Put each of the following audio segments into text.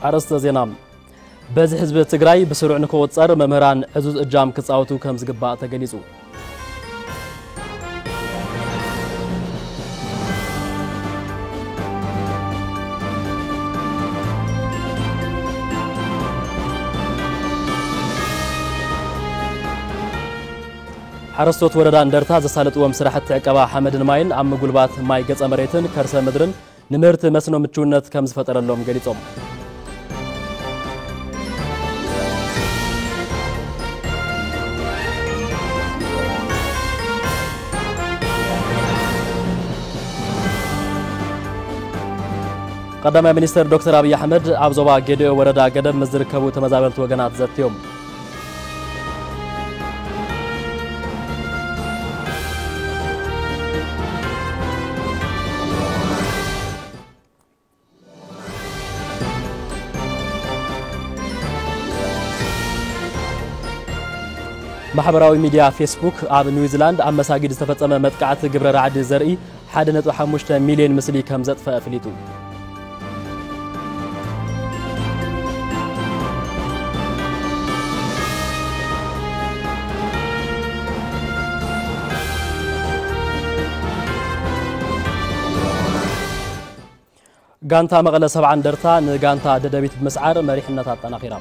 ኣርእስተ ዜና። በዚ ህዝቢ ትግራይ ብስሩዕ ንክቑጸር መምህራን ዕዙዝ እጃም ክጻወቱ ከም ዝግባእ ተገሊጹ። ሓረስቶት ወረዳ እንደርታ ዘሳለጥዎም ስራሕቲ ዕቀባ ሓመድን ማይን ኣብ ምጉልባት ማይ ገጸ መሬትን ከርሰ ምድርን ንምህርቲ መስኖ ምችውነት ከም ዝፈጠረሎም ገሊጾም። ቀዳማይ ሚኒስትር ዶክተር ኣብይ ኣሕመድ ኣብ ዞባ ጌዲኦ ወረዳ ገደብ ምስ ዝርከቡ ተመዛበልቲ ወገናት ዘትዮም። ማሕበራዊ ሚድያ ፌስቡክ ኣብ ኒውዚላንድ ኣብ መሳጊድ ዝተፈጸመ መጥቃዕቲ ግብረ ራዕዲ ዘርኢ ሓደ ነጥቢ ሓሙሽተ ሚልዮን ምስሊ ከም ዘጥፈአ ኣፍሊጡ። ጋንታ መቐለ ሰብዓ እንደርታ ንጋንታ ደደቢት ብምስዓር መሪሕነታ ኣጠናኺራ።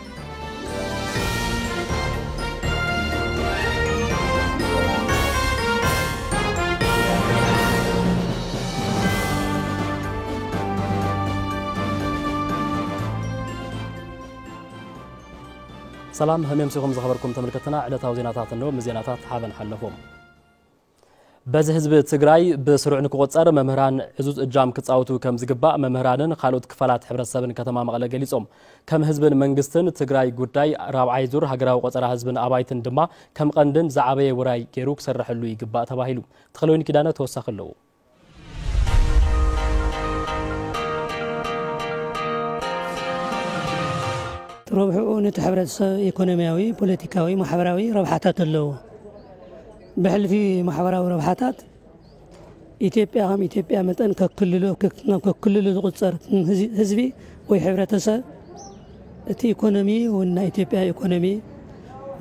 ሰላም፣ ከመይ ኣምሲኹም ዝኸበርኩም ተመልከትና፣ ዕለታዊ ዜናታት እንሆ። ምስ ዜናታት ሓበን ሓለፎም። በዚ ህዝቢ ትግራይ ብስሩዕ ንክቑጸር መምህራን ዕዙዝ እጃም ክጻወቱ ከም ዝግባእ መምህራንን ካልኦት ክፋላት ሕብረተሰብን ከተማ መቐለ ገሊጾም። ከም ህዝብን መንግስትን ትግራይ ጉዳይ ራብዓይ ዙር ሃገራዊ ቆጸራ ህዝብን ኣባይትን ድማ ከም ቀንድን ዝዓበየ ውራይ ገይሩ ክስረሐሉ ይግባእ ተባሂሉ። ተኽለወይኒ ኪዳነ ተወሳኺ ኣለዎ። ረብሕኡ ነቲ ሕብረተሰብ ኢኮኖሚያዊ፣ ፖለቲካዊ፣ ማሕበራዊ ረብሓታት ኣለዎ። ብሕልፊ ማሕበራዊ ረብሓታት ኢትዮጵያ ከም ኢትዮጵያ መጠን ከክልሉ፣ ከክ-፣ ናብ ከክልሉ ዝቑጸር ህዝ-፣ ህዝቢ ወይ ሕብረተሰብ እቲ ኢኮኖሚ እውን ናይ ኢትዮጵያ ኢኮኖሚ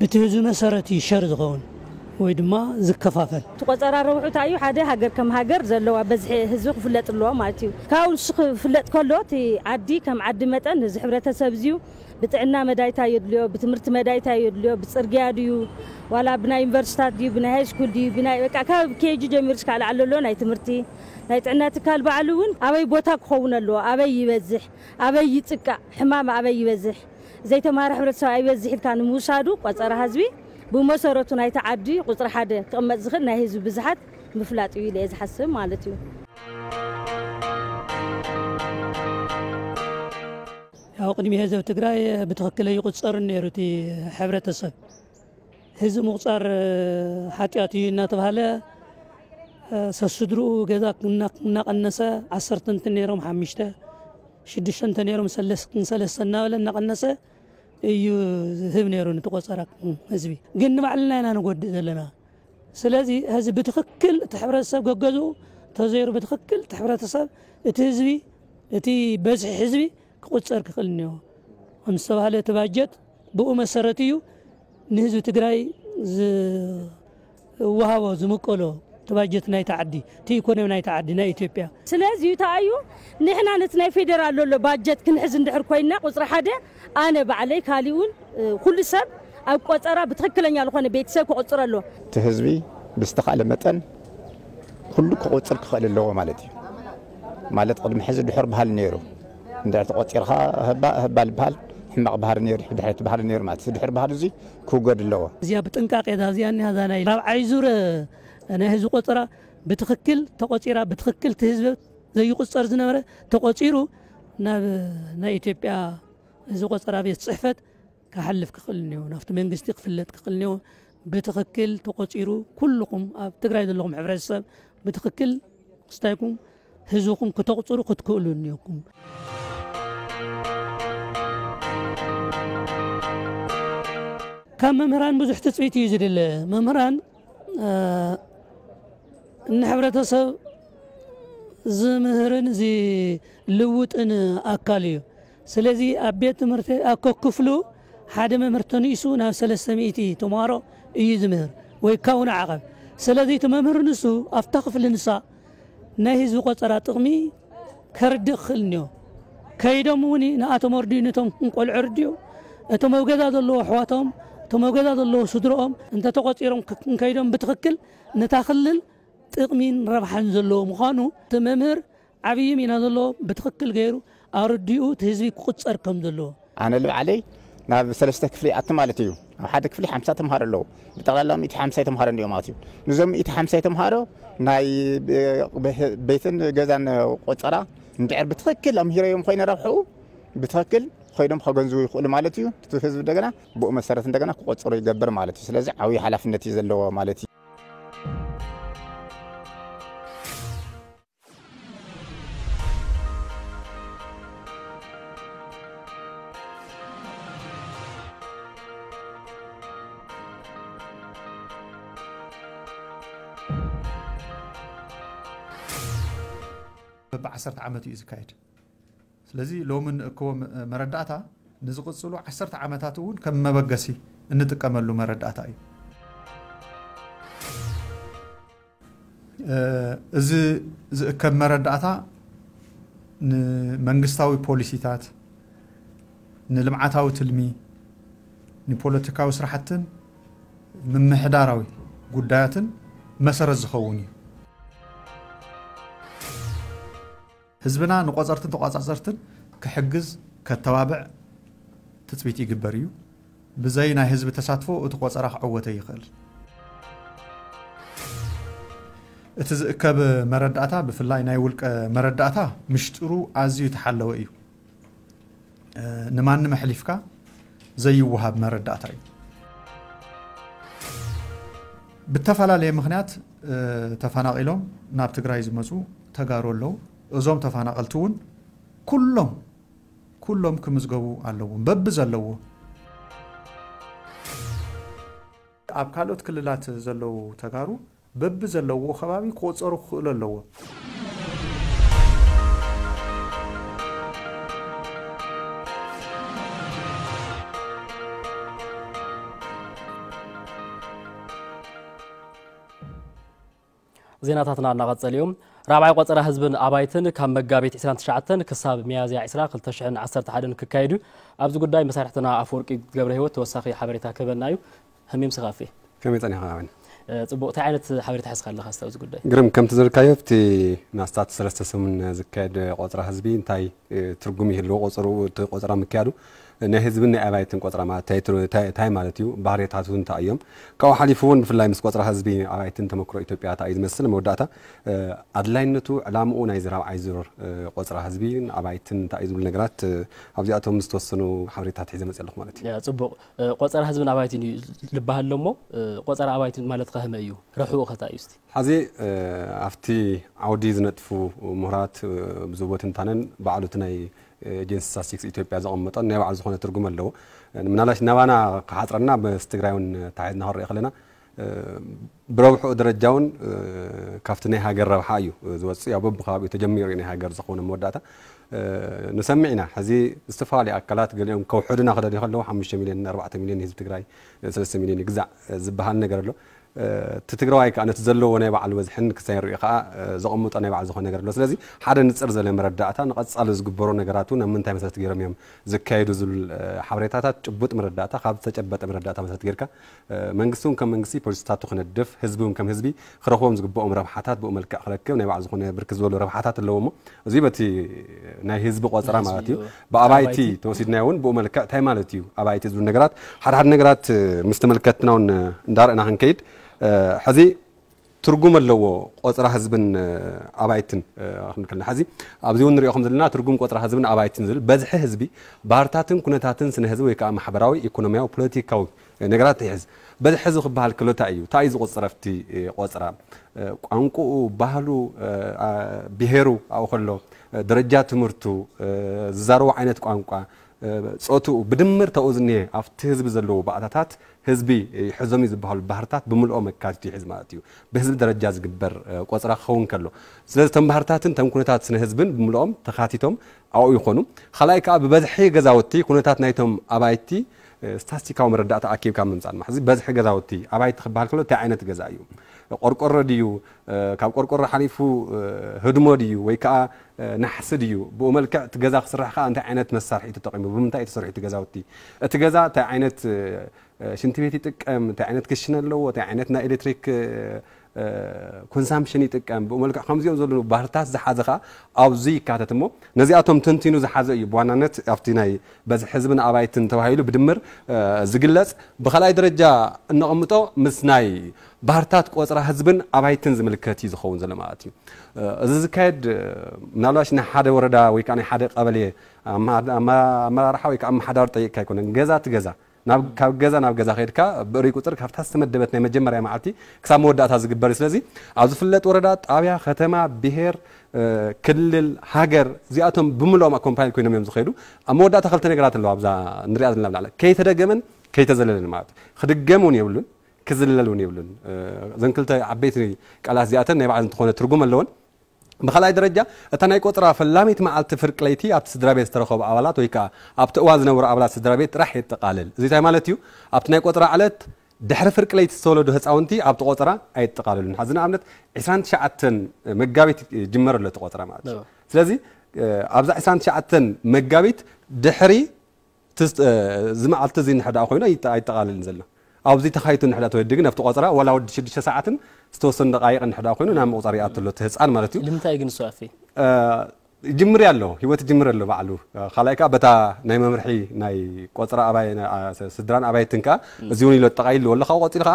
ብቲ ህዝቢ መሰረት እዩ ሸር ዝኸውን ወይ ድማ ዝከፋፈል። እቲ ቆጸራ ረብሑ እንታይ እዩ? ሓደ ሃገር ከም ሃገር ዘለዋ በዝሒ ህዝቢ ክፍለጥ ኣለዎ ማለት እዩ። ካብኡ ንሱ ክፍለጥ ከሎ እቲ ዓዲ ከም ዓዲ መጠን እዚ ሕብረተሰብ እዚዩ ብጥዕና መዳይታ የድልዮ፣ ብትምህርቲ መዳይታ የድልዮ፣ ብጽርግያ ድዩ፣ ዋላ ብናይ ዩኒቨርሲታት ድዩ፣ ብናይ ሃይ ስኩል ድዩ፣ ብናይ በቃ ካብ ኬጂ ጀሚሩ እስካብ ላዕሊ ዘሎ ናይ ትምህርቲ፣ ናይ ጥዕና ትካል ባዕሉ እውን ኣበይ ቦታ ክኸውን ኣለዎ፣ ኣበይ ይበዝሕ፣ ኣበይ ይጥቃዕ፣ ሕማም ኣበይ ይበዝሕ፣ ዘይተማሃረ ሕብረተሰብ ኣይበዝሕ ኢልካ ንምውሳዱ ቆጸራ ህዝቢ ብመሰረቱ ናይቲ ዓዲ ቁጽሪ ሓደ ክቕመጥ ዝኽእል ናይ ህዝቢ ብዝሓት ምፍላጥ እዩ ኢለ እየ ዝሓስብ ማለት እዩ። ያው ቅድሚ ህዝብ ትግራይ ብትኽክል ኣይቁጸርን ነይሩ እቲ ሕብረተሰብ። ህዝብ ምቁጻር ሓጢኣት እዩ እናተባህለ፣ ሰስድርኡ ገዛ እና-፣ እናቐነሰ ዓሰርተ እንተ ነይሮም ሓሙሽተ፣ ሽዱሽተ እንተ ነይሮም ሰለስ-፣ ሰለስተ እናበለ እናቐነሰ እዩ ዝህብ ነይሩ ነቲ ቆጸራ ህዝቢ። ግን ንባዕልና ኢና ንጎድእ ዘለና። ስለዚ ህዝቢ ብትኽክል እቲ ሕብረተሰብ ገገዝኡ ተዘይሩ ብትኽክል እቲ ሕብረተሰብ፣ እቲ ህዝቢ፣ እቲ በዝሒ ህዝቢ ክቑጸር ክኽእል እኒኦ። ከም ዝተባህለ እቲ ባጀት ብኡ መሰረት እዩ ንህዝቢ ትግራይ ዝወሃቦ ዝምቀሎ እቲ ባጀት ናይቲ ዓዲ፣ እቲ ኢኮኖሚ ናይቲ ዓዲ ናይ ኢትዮጵያ። ስለዚ እንታይ እዩ ንሕና ነቲ ናይ ፌደራል ዘሎ ባጀት ክንሕዝ እንድሕር ኮይንና ቁጽሪ ሓደ ኣነ ባዕለይ ካሊኡን እ፣ ኩሉ ሰብ ኣብ ቆጸራ ብትኽክለኛ ዝኾነ ቤተሰብ ክቑጽር ኣለዎ። እቲ ህዝቢ ብዝተኻእለ መጠን ኩሉ ክቑጽር ክኽእል ኣለዎ ማለት እዩ። ማለት ቅድሚ ሕዚ ድሑር ባህሊ ነይሩ። እንድሕር ተቖጺርካ ህባ-፣ ህባል ባህል፣ ሕማቕ ባህሪ ነይሩ፣ ድሕር እቲ ባህሪ ነይሩ ማለት እዩ። ድሑር ባህሊ እዚ ክውገድ ኣለዎ። እዚኣ ብጥንቃቄ እዛ እዚኣ እኒሃ እዛ ናይ ራብዓይ ዙር ናይ ህዝቢ ቆጸራ ብትኽክል ተቖጺራ፣ ብትኽክል እቲ ህዝቢ ዘይቁጸር ዝነበረ ተቖጺሩ ናብ ናይ ኢትዮጵያ ህዝቢ ቆጸራ ቤት ጽሕፈት ክሓልፍ ክኽእል እኒኦ፣ ናብቲ መንግስቲ ክፍለጥ ክኽእል እኒኦ። ብትኽክል ተቖጺሩ ኩልኹም ኣብ ትግራይ ዘለኹም ሕብረተሰብ ብትኽክል ክስታይኩም ህዝብኹም ክተቑጽሩ ክትክእሉ እኒኦኩም። ካብ መምህራን ብዙሕ ትጽቢት እዩ ዝድለ። መምህራን፣ እ፣ ንሕብረተሰብ ዝምህርን ዝልውጥን ኣካል እዩ። ስለዚ ኣብ ቤት ትምህርቲ ኣብ ከክፍሉ ሓደ መምህር ተንኢሱ ናብ ሰለስተ ሚእቲ ተምሃሮ እዩ ዝምህር ወይ ካብኡ ንዓቐብ። ስለዚ እቲ መምህር ንሱ ኣብታ ክፍሊ ንሳ ናይ ህዝቢ ቆጸራ ጥቕሚ ከርድእ ክኽእል እኒኦ። ከይዶም እውን ንኣቶም ኣርድኡ፣ ነቶም ቆልዑ ኣርድኡ፣ እቶም ኣብ ገዛ ዘለዎ ኣሕዋቶም፣ እቶም ኣብ ገዛ ዘለዎ ስድረኦም እንተተቖጺሮም ክ-፣ እንከይዶም ብትኽክል ነታ ክልል ጥቕሚን ረብሓን ዘለዎ ምዃኑ እቲ መምህር ዓብዪ ሚና ዘለዎ ብትኽክል ገይሩ ኣረዲኡ እቲ ህዝቢ ክቁጸር ከም ዘለዎ። ኣነ ልብዓለይ ናብ ሰለስተ ክፍሊ ይኣቱ ማለት እዩ። ኣብ ሓደ ክፍሊ ሓምሳ ተምሃሮ ኣለዉ። ብጠቕላላ ሚእቲ ሓምሳ ተምሃሮ እንዲኦም ማለት እዩ። ንዞም ሚእቲ ሓምሳ ተምሃሮ ናይ ብ-፣ ቤትን ገዛን ቆጸራ እንድሕር ብትኽክል ኣምሂረዮም ኮይነ ረብሕኡ ብትኽክል ኮይኖም ከገንዝቡ ይኽእሉ ማለት እዩ። እቲ ህዝቢ እንደገና ብኡ መሰረት እንደገና ክቆጽሩ ይገብር ማለት እዩ። ስለዚ ዓብዪ ሓላፍነት እዩ ዘለዎ ማለት እዩ። በብዓሰርተ ዓመት እዩ ዝካየድ። ስለዚ ሎሚ እንእክቦ መ-፣ መረዳእታ ንዝቕጽሉ ዓሰርተ ዓመታት እውን ከም መበገሲ እንጥቀመሉ መረዳእታ እዩ። እ፣ እዚ ዝእከብ መረዳእታ ንመንግስታዊ ፖሊሲታት፣ ንልምዓታዊ ትልሚ፣ ንፖለቲካዊ ስራሕትን ምምሕዳራዊ ጉዳያትን መሰረት ዝኸውን እዩ። ህዝብና ንቆጸርትን ተቋጻጸርትን ክሕግዝ፣ ከተባብዕ ትጽቢት ይግበር እዩ። ብዘይ ናይ ህዝቢ ተሳትፎ እቲ ቆጸራ ክዕወት ኣይኽእል። እቲ ዝእከብ መረዳእታ፣ ብፍላይ ናይ ውልቀ መረዳእታ፣ ምሽጥሩ ኣዝዩ የተሓለወ እዩ። እ፣ ንማንም ኣሕሊፍካ ዘይወሃብ መረዳእታ እዩ። ብተፈላለየ ምኽንያት፣ እ፣ ተፈናቒሎም ናብ ትግራይ ዝመጹ ተጋሩ ኣለዉ። እዞም ተፈናቐልቲ እውን ኩሎም፣ ኩሎም ክምዝገቡ ኣለዎም። በቢ ዘለዎ ኣብ ካልኦት ክልላት ዘለዉ ተጋሩ በቢ ዘለዎ ከባቢ ክቑጸሩ ክኽእሉ ኣለዎም። ዜናታትና እናቐጸሉ እዮም። ራብዓይ ቆጸራ ህዝብን ኣባይትን ካብ መጋቢት ዕስራን ትሽዓተን ክሳብ ሚያዝያ ዕስራ ክልተ ሽሕን ዓሰርተ ሓደን ክካየድ እዩ። ኣብዚ ጉዳይ መሳርሕትና ኣፈወርቂ ገብረ ህይወት ተወሳኺ ሓበሬታ ክህበና እዩ። ህሚም ስኻፊ። ከመይ ጸኒኻ ኣበን? እ፣ ጽቡቕ። እንታይ ዓይነት ሓበሬታ ሒዝካ ኣለኻ እስቲ ኣብዚ ጉዳይ? ግርም፣ ከምቲ ዝበልካዮ፣ ኣብቲ ናስታት ሰለስተ ሰሙን ዝካየድ ቆጸራ ህዝቢ እንታይ፣ እ፣ ትርጉም ይህልዎ? ቆጸሩ፣ እቲ ቆጸራ ምክያዱ ናይ ህዝብን ናይ ኣባይትን ቆጸራ ማለት እንታይ ትር-፣ እንታይ፣ እንታይ ማለት እዩ? ባህርያታቱ እንታይ እዮም? ካብኡ ሓሊፉ እውን ብፍላይ ምስ ቆጸራ ህዝቢ ኣባይትን ተመክሮ ኢትዮጵያ እንታይ እዩ ዝመስል? መወዳእታ፣ እ፣ ኣድላይነቱ፣ ዕላምኡ ናይዚ ራብዓይ ዙር፣ እ፣ ቆጸራ ህዝቢ ኣባይትን እንታይ እዩ ዝብሉ ነገራት፣ እ፣ ኣብዚኣቶም ዝተወሰኑ ሓበሬታት ሒዘ መጽእ ኣለኹ ማለት እዩ። ያ፣ ጽቡቕ። እ፣ ቆጸራ ህዝብን ኣባይትን እዩ ዝበሃል ኣሎ እሞ፣ እ፣ ቆጸራ ኣባይትን ማለት ከ ከመይ እዩ? ረብሕኡ ከ እንታይ እዩ እስቲ? ሐዚ፣ እ፣ ኣብቲ ዓውዲ ዝነጥፉ ምሁራት፣ እ፣ ብዝህቦ ትንታነን ባዕሉ እቲ ናይ፣ እ፣ ኤጀንሲ ስታትስቲክስ ኢትዮጵያ ዘቐመጦን ናይ ባዕሉ ዝኾነ ትርጉም ኣለዎ። እ፣ ምናልባሽ ናባና ክሓጽረና ምስ ትግራይ እውን ተሓሒዝና ክንርኢ ከለና፣ እ፣ ብረብሕኡ ደረጃ እውን፣ እ፣ ካብቲ ናይ ሃገር ረብሓ እዩ ዝወፅእ። ያው በብከባቢኡ ተጀሚሩ እዩ ናይ ሃገር ዝኾነ መወዳእታ። እ፣ ንሰምዕ ኢና። ሕዚ ዝተፈላለዩ ኣካላት ገሊኦም ከውሕዱና ክደልዩ ከለዉ ሓሙሽተ ሚልዮን ኣርባዕተ ሚልዮን ህዝቢ ትግራይ፣ እ፣ ሰለስተ ሚልዮን ይግዛዕ፣ እ፣ ዝበሃል ነገር ኣሎ። እ፣ እቲ ትግራዋይ ከዓ ነቲ ዘለዎ ናይ ባዕሉ በዝሕን ክሳይ ሪኡ ከዓ፣ እ፣ ዘቐምጦ ናይ ባዕሉ ዝኾነ ነገር ኣሎ። ስለዚ ሓደ ንፅር ዘለ መረዳእታ ንቐፃሊ ዝግበሩ ነገራት እውን ኣብ ምንታይ መሰረት ገይሮም እዮም ዝካየዱ ዝብል፣ እ፣ ሓበሬታታት ጭቡጥ መረዳእታ ካብ ዝተጨበጠ መረዳእታ መሰረት ጌርካ፣ እ፣ መንግስቲ እውን ከም መንግስቲ ፖሊሲታቱ ክነድፍ፣ ህዝቢ እውን ከም ህዝቢ ክረኽቦም ዝግብኦም ረብሓታት ብኡ መልክዕ ክረክብ ናይ ባዕሉ ዝኾነ ብርክት ዝበሉ ረብሓታት ኣለዎ እሞ፣ እዚ በቲ ናይ ህዝቢ ቆፀራ ናይ ህዝቢ ማለት እዩ። እዩ። ብኣባይቲ ኣባይቲ። ተወሲድናዮ እውን ብኡ መልክዕ እንታይ ማለት እዩ ኣባይቲ ዝብሉ ነገራት፣ ሓደ ሓደ ነገራት፣ እ፣ ምስ ተመልከትና እውን፣ እ፣ እንዳረእና ክንከይድ፣ እ፣ ሕዚ ትርጉም ኣለዎ ቆፅራ ህዝብን፣ እ፣ ኣባይትን፣ እ፣ ክንብል ከለና። ሕዚ ኣብዚ እውን ንሪኦ ከም ዘለና ትርጉም ቆፅራ ህዝብን ኣባይትን ዝብል በዝሒ ህዝቢ ባህርታትን ኩነታትን ስነ ህዝቢ ወይ ከዓ ማሕበራዊ፣ ኢኮኖሚያዊ፣ ፖለቲካዊ ነገራት ይሕዝ። በዝሒ ህዝቢ ክበሃል ከሎ እንታይ እዩ? እንታይ እዩ ዝቑፅር ኣብቲ፣ እ፣ ቆፅራ? እ፣ ቋንቋኡ፣ ባህሉ፣ እ፣ ኣ-፣ ብሄሩ ኣብኡ ከሎ፣ እ፣ ደረጃ ትምህርቱ፣ እ፣ ዝዛረቦ ዓይነት ቋንቋ፣ እ፣ ጾትኡ ብድምር ተኡ ዝኒሀ ኣብቲ ህዝቢ ዘለዉ ባእታታት ህዝቢ ይሕዞም እዩ ዝበሃሉ ባህርታት ብምልኦም ኣካቲቱ ይሕዝ ማለት እዩ። ብህዝቢ ደረጃ ዝግበር፣ እ፣ ቆጽራ ክኸውን ከሎ። ስለዚ እቶም ባህርታትን እቶም ኩነታት ስነ ህዝብን ብምልኦም ተኻቲቶም ኣብኡ ይኾኑ። ካልኣይ ከኣ ብበዝሒ ገዛውቲ ኩነታት ናይቶም ኣባይቲ፣ እ፣ ስታስቲካዊ መረዳእታ ኣኪብካ ምምጻእ። ሕዚ በዝሒ ገዛውቲ ኣባይቲ ክበሃል ከሎ እንታይ ዓይነት ገዛ እዩ? ቆርቆሮ ድዩ? እ፣ ካብ ቆርቆሮ ሓሊፉ፣ እ፣ ህድሞ ድዩ? ወይ ከኣ፣ እ፣ ናሕሲ ድዩ? ብኡ መልክዕ እቲ ገዛ ክስራሕ ከኣ እንታይ ዓይነት መሳርሒ እዩ ተጠቒሙ? ብምንታይ እዩ ተሰሪሑ እቲ ገዛውቲ? እቲ ገዛ እንታይ ዓይነት፣ እ፣ ሽንቲ ቤት ይጥቀም? እንታይ ዓይነት ክሽነ ኣለዎ? እንታይ ዓይነት ናይ ኤሌክትሪክ፣ እ፣ እ፣ ኮንሳምፕሽን ይጥቀም? ብኡ መልክዕ ከምዚኦም ዘለዉ ባህርታት ዝሓዘ ከኣ ኣብዚ ይካተት እሞ ነዚኣቶም ተንቲኑ ዝሓዘ እዩ። ብዋናነት ኣብቲ ናይ በዝሒ ህዝብን ኣባይትን ተባሂሉ ብድምር፣ እ፣ ዝግለጽ። ብኻልኣይ ደረጃ እነቐምጦ ምስ ናይ ባህርታት ቆጽራ ህዝብን ኣባይትን ዝምልከት እዩ ዝኸውን ዘሎ ማለት እዩ። እ፣ እዚ ዝካየድ፣ እ፣ ምናልባሽ ናይ ሓደ ወረዳ ወይ ከኣ ናይ ሓደ ቀበሌ ኣማ-፣ ኣማ-፣ ኣመራርሓ ወይ ከኣ ኣመሓዳሪ ጠይቅካ ኣይኮነን። ገዛ እቲ ገዛ፣ ናብ፣ ካብ ገዛ ናብ ገዛ ከይድካ ብእርይ ቁጽር ካብታ ዝተመደበት ናይ መጀመርያ መዓልቲ ክሳብ መወዳእታ ዝግበር እዩ። ስለዚ ኣብ ዝፍለጥ ወረዳ፣ ጣብያ፣ ከተማ፣ ብሄር፣ እ፣ ክልል፣ ሃገር፣ እዚኣቶም ብምልኦም ኣኮምፓይል ኮይኖም እዮም ዝኸዱ። ኣብ መወዳእታ ክልተ ነገራት ኣለዋ ኣብዛ ንሪኣ ዘለና ብላዕሊ። ከይተደገመን ከይተዘለለን ማለት እዩ። ክድገም እውን የብሉን፣ ክዝለል እውን የብሉን። እ፣ እዘን ክልተ ዓበይቲ ቃላት እዚኣተን ናይ ባዕለን ዝኾነ ትርጉም ኣለወን። ብኻልኣይ ደረጃ፣ እታ ናይ ቆጽራ ፈላሚት መዓልቲ ፍርቂ ለይቲ ኣብቲ ስድራ ቤት ዝተረኸቡ ኣባላት ወይ ከኣ ኣብቲ እዋን ዝነበሩ ኣባላት ስድራ ቤት ጥራሕ የጠቓልል። እዚ እንታይ ማለት እዩ? ኣብቲ ናይ ቆጽራ ዕለት ድሕሪ ፍርቂ ለይቲ ዝተወለዱ ህጻውንቲ ኣብቲ ቆጽራ ኣየጠቓልሉን። ሕዚ ንኣብነት ዕስራን ትሽዓተን መጋቢት ይጅመር ኣሎ እቲ ቆጽራ ማለት እዩ። እዎ። ስለዚ፣ እ፣ ኣብዛ ዕስራን ትሽዓተን መጋቢት ድሕሪ ትስ-፣ እ፣ እዚ መዓልቲ እዚ እንድሕር ደኣ ኮይኑ ኣይጠ-፣ ኣይጠቓልልን ዘሎ። ኣብዚ ተኻይቱ እንድሕር ደኣ ተወዲ ግን ኣብቲ ቆጽራ ዋላ ወዲ ሽዱሽተ ሰዓትን ዝተወሰኑ ደቃይቕ እንድሕር ደኣ ኮይኑ ናብ ምቑጻር ይኣቱ ኣሎ እቲ ህጻን ማለት እዩ። ልምንታይ ግን እሱ ኣፌ? እ፣ ይጅምር ኣሎ፣ ህይወት ይጅምር ኣሎ ባዕሉ። እ፣ ካልኣይ ከኣ በታ ናይ መምርሒ ናይ ቆጽራ ኣባይ፣ ናይ፣ ኣ፣ ስ-፣ ስድራን ኣባይትን ከኣ እዚ እውን ኢሎ ኣጠቓሊሉ ኣሎ። ካብኡ ቀጺሉ ከኣ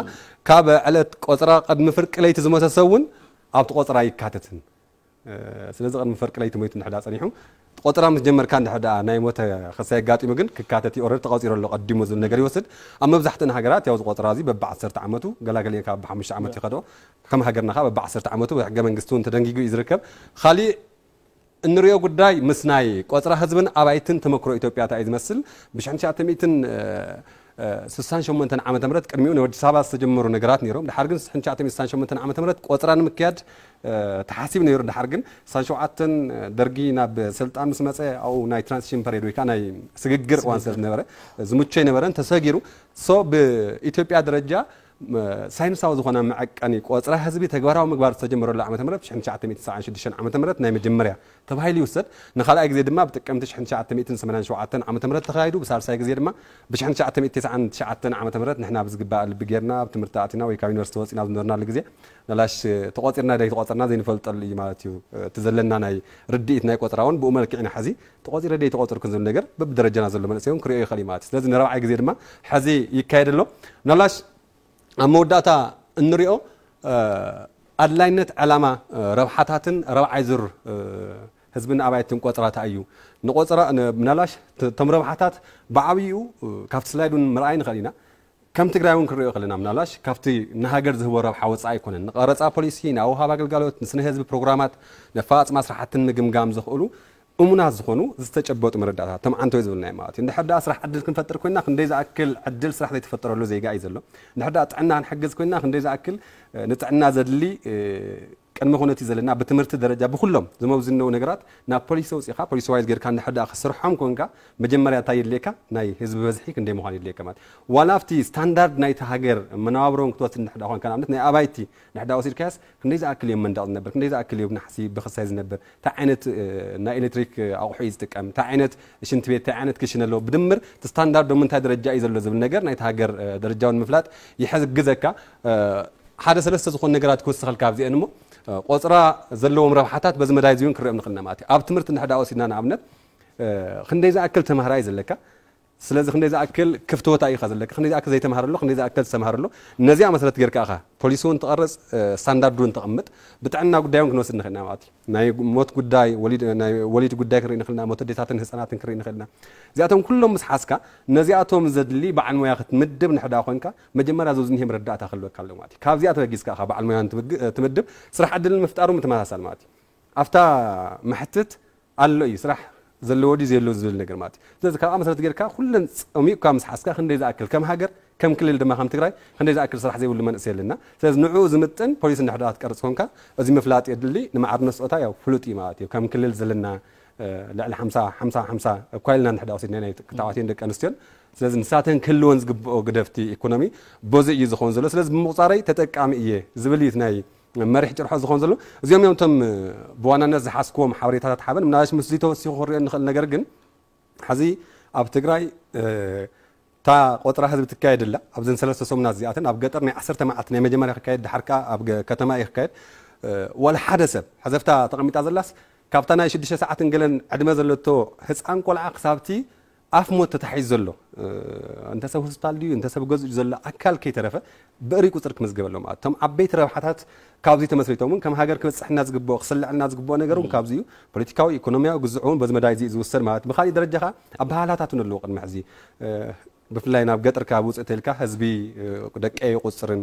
ካብ ዕለት ቆጽራ ቅድሚ ፍርቂ ለይቲ ዝሞተ ሰብ እውን ኣብቲ ቆጽራ ኣይካተትን። እ፣ ስለዚ ቅድሚ ፍርቂ ለይቲ ሞይቱ እንድሕር ደኣ ጸኒሑ፣ ቆጽራ ምስ ጀመርካ እንድሕር ደኣ ናይ ሞተ ክሳይ ኣጋጢሙ ግን ክካተት እዩ። ኦረዲ ተቆጺሩ ኣሎ ቀዲሙ ዝብል ነገር ይወስድ። ኣብ መብዛሕትእን ሃገራት ያው እዚ ቆጽራ እዚ በቢ ዓሰርተ ዓመቱ፣ ገላገሊአን ካብ በቢ ሓሙሽተ ዓመት ይኸዶ። ከም ሃገርና ከኣ በቢ ዓሰርተ ዓመቱ ብሕገ መንግስቲ እውን ተደንጊጉ እዩ ዝርከብ። ካሊእ እንሪኦ ጉዳይ ምስ ናይ ቆጽራ ህዝብን ኣባይትን ተመክሮ ኢትዮጵያ እንታይ እዩ ዝመስል? ብሽሕን ትሽዓተ ሚእትን ስሳን ሸሞንተን ዓመተ ምህረት ቅድሚኡ ንኣዲስ ኣበባ ዝተጀመሩ ነገራት ነይሮም። ድሓር ግን ሽሕን ትሽዓተ ሚእትን ስሳን ሸሞንተን ዓመተ ምህረት ቆጽራ ንምክያድ፣ እ፣ ተሓሲቡ ነይሩ። ድሓር ግን ስሳን ሸውዓተን ደርጊ ናብ ስልጣን ምስ መጸ ኣብኡ ናይ ትራንዚሽን ፐሬድ ወይ ከኣ ናይ ስግግር እዋን ስለ ዝነበረ ዝምቹ ኣይነበረን፣ ተሰጊሩ። ሶ ብኢትዮጵያ ደረጃ፣ እ፣ ሳይንሳዊ ዝኾነ መዐቀኒ ቆጽራ ህዝቢ ተግባራዊ ምግባር ዝተጀመረሉ ዓመተ ምህረት ሽሕን ትሽዓተ ሚእትን ሰብዓን ሽዱሽተን ዓመተ ምህረት ናይ መጀመርያ ተባሂሉ ይውሰድ። ንኻልኣይ ግዜ ድማ ብጥቅምቲ ሽሕን ትሽዓተ ሚእትን ሰማንያን ሸውዓተን ዓመተ ምህረት ተኻይዱ። ብሳልሳይ ግዜ ድማ ብሽሕን ትሽዓተ ሚእትን ተስዓን ትሽዓተን ዓመተ ምህረት ንሕና ብዝግባእ ልቢ ጌርና ኣብ ትምህርቲ ኣቲና ወይ ካብ ዩኒቨርሲቲ ወጺና ኣብ ዝነበርናሉ ግዜ ንላሽ ተቖጺርና ደይተቖጸርና ዘይንፈልጠሉ እዩ ማለት እዩ። እቲ ዘለና ናይ ርድኢት ናይ ቆጽራ እውን ብኡ መልክዕ ኢና ሕዚ ተቖጺረ ደይተቖጸርኩን ዝብል ነገር በብደረጃና ዘሎ መንእሰይ እውን ክርእዮ ይኽእል እዩ ማለት እዩ። ስለዚ ንራብዓይ ግዜ ድማ ሕዚ ይካየድ ኣሎ። ናላሽ ኣብ መወዳእታ እንሪኦ፣ እ፣ ኣድላይነት ዕላማ፣ እ፣ ረብሓታትን ራብዓይ ዙር፣ እ፣ ህዝብን ኣባይትን ቆጽራታ እዩ። ንቆጽራ፣ ን-፣ ምናልባሽ ት-፣ እቶም ረብሓታት ብዓብይኡ፣ እ፣ ካብቲ ስላይድ እውን ምርኣይ ንኽእል ኢና። ከም ትግራይ እውን ክንሪኦ ከለና ምናልባሽ ካብቲ ንሃገር ዝህቦ ረብሓ ወጻኢ ኣይኮነን። ንቀረጻ ፖሊሲ፣ ንኣውሃብ ኣገልጋሎት፣ ንስነ ህዝቢ ፕሮግራማት፣ ነፈጻጽማ ስራሕትን ምግምጋም ዘኽእሉ እሙናት ዝኾኑ ዝተጨበጡ መረዳእታት፣ ተምዓንቶ ዝብልናዮ ማለት እዩ። እንድሕር ደኣ ስራሕ ዕድል ክንፈጥር ኮይና ክንደይ ዝኣክል ዕድል ስራሕ ዘይተፈጠረሉ ዜጋ እዩ ዘሎ። እንድሕር ደኣ ጥዕና ክንሕግዝ ኮይና ክንደይ ዝኣክል፣ እ፣ ንጥዕና ዘድሊ፣ እ፣ ቅድመ ኩነት እዩ ዘለና። ብትምህርቲ ደረጃ ብኩሎም ዝመብዝነው ነገራት ናብ ፖሊሲ ኣውጺእኻ፣ ፖሊሲ ዋይዝ ጌርካ እንድሕር ደኣ ክስርሖም ኮንካ መጀመርያ እንታይ የድልየካ? ናይ ህዝቢ በዝሒ ክንደይ ምዃን የድልየካ ማለት። ዋላ ኣብቲ ስታንዳርድ ናይቲ ሃገር መነባብሮን ክትወስድ እንድሕር ደኣ ኮንካ ንኣብነት ናይ ኣባይቲ እንድሕር ደኣ ወሲድካያስ ክንደይ ዝኣክል እዮም መንደቕ ዝነብር፣ ክንደይ ዝኣክል እዮም ናሕሲ ብኽሳይ ዝነብር፣ እንታይ ዓይነት፣ እ፣ ናይ ኤሌክትሪክ ኣቑሑ እዩ ዝጥቀም፣ እንታይ ዓይነት ሽንቲ ቤት፣ እንታይ ዓይነት ክሽነ ኣለዎ፣ ብድምር እቲ ስታንዳርዶም እንታይ ደረጃ እዩ ዘሎ ዝብል ነገር ናይቲ ሃገር፣ እ፣ ደረጃውን ምፍላጥ ይሕግዘካ። እ፣ ሓደ ሰለስተ ዝኾኑ ነገራት ክውስኸልካ ኣብዚአን እሞ፣ እ፣ ቆጽራ ዘለዎም ረብሓታት በዚ መዳይ እዚ እውን ክንሪኦም ንኽእል ኢና ማለት እዩ። ኣብ ትምህርቲ እንድሕር ደኣ ወሲድና ንኣብነት፣ እ፣ ክንደይ ዝኣክል ተማሃራ እዩ ዘለካ፣ ስለዚ ክንደይ ዝኣክል ክፍቲ ቦታ እዩ ዘለካ፣ ክንደይ ዝኣክል ዘይተማሃረ ኣሎ፣ ክንደይ ዝኣክል ዝተማሃረ ኣሎ። ነዚኣ መሰረት ጌርካ ኢኻ ፖሊሲ እውን ትቐርጽ፣ እ፣ ስታንዳርድ እውን ተቐምጥ። ብጥዕና ጉዳይ እውን ክንወስድ ንኽእል ኢና ማለት እዩ። ናይ ሞት ጉዳይ፣ ወሊድ፣ ናይ ወሊድ ጉዳይ ክንርኢ ንኽእል ኢና፣ ሞት ኣዴታትን ህጻናትን ክንርኢ ንኽእል ኢና። እዚኣቶም ኩሎም ምስ ሓዝካ፣ ነዚኣቶም ዘድሊ በዓል ሞያ ክትምድብ እንድሕር ደኣ ኮንካ፣ መጀመርያ እዚ ዝኒሀ መረዳእታ ክህልወካ ኣለዎ ማለት እዩ። ካብዚኣ ተበጊስካ ኢኻ በዓል ሞያ እንትምግ-፣ ትምድብ፣ ስራሕ ዕድል ንምፍጣር እውን ምትመሳሳል ማለት እዩ። ኣብታ መሕትት ኣሎ እዩ ስራሕ ዘለዎ ድዩ ዘየሎ ዝብል ነገር ማለት እዩ። ስለዚ ካብኣ መሰረት ጌርካ ኩለን ጸሚቕካ ምስ ሓዝካ ክንደይ ዝኣክል ከም ሃገር ከም ክልል ድማ ከም ትግራይ ክንደይ ዝኣክል ስራሕ ዘይብሉ መንእሰይ ኣለና። ስለዚ ንዕኡ ዝምጥን ፖሊሲ እንድሕር ደኣ ክትቀርጽ ኮንካ እዚ ምፍላጥ የድሊ። ንማዕርነት ስጦታ ያው ፍሉጥ እዩ ማለት እዩ። ከም ክልል ዘለና ልዕሊ ሓምሳ ሓምሳ ሓምሳ እኳ ኢልና እንድሕር ደኣ ወሲድና ናይ ተባዕትዮን ደቂ ኣንስትዮን። ስለዚ ንሳተን ክህልወን ዝግብኦ ግደፍቲ ኢኮኖሚ በዚ እዩ ዝኸውን ዘሎ። ስለዚ ብምቑፃረይ ተጠቃሚ እየ ዝብል እዩ ናይ መሪሕ ጭርሖ ዝኸውን ዘሎ። እዚኦም እዮም እቶም ብዋናነት ዝሓዝክዎም ሓበሬታታት ሓበን። ምናልባሽ ምስዚ ተወሲኹ ክሪኦ እንኽእል ነገር ግን ሕዚ ኣብ ትግራይ እታ ቆፅራ ህዝቢ ትካየድ ኣላ። ኣብዘን ሰለስተ ሰሙናት እዚኣተን ኣብ ገጠር ናይ ዓሰርተ መዓልቲ ናይ መጀመርያ ክካየድ፣ ድሓር ከዓ ኣብ ገ- ከተማ እዩ ክካየድ። ዋላ ሓደ ሰብ፣ ሕዘፍታ ተቐሚጣ ዘላስ ካብታ ናይ ሽዱሽተ ሰዓትን ገለን ዕድመ ዘለቶ ህፃን ቆልዓ ክሳብቲ ኣፍ ሞት ተታሒዙ ዘሎ፣ እንተ ሰብ ሆስፒታል ድዩ እንተ ሰብ ገዝኡ ዘሎ ኣካል ከይተረፈ ብእሪ ቁፅሪ ክምዝገበሎም ማለት እቶም ዓበይቲ ረብሓታት ካብዚ ተመስሪቶም እውን ከም ሃገር ክበፅሕና ዝግብኦ ክስልዕና ዝግብኦ ነገር እውን ካብዚ እዩ። ፖለቲካዊ፣ ኢኮኖሚያዊ ግዝዑ እውን በዚ መዳይ እዚ እዩ ዝውሰድ ማለት። ብካሊእ ደረጃ ከዓ ኣበሃህላታት እውን ኣለዎ። ቅድሚ ሕዚ ብፍላይ ናብ ገጠር ከባቢ ውፅእ ተልካ ህዝቢ ደቀይ ይቁፅርን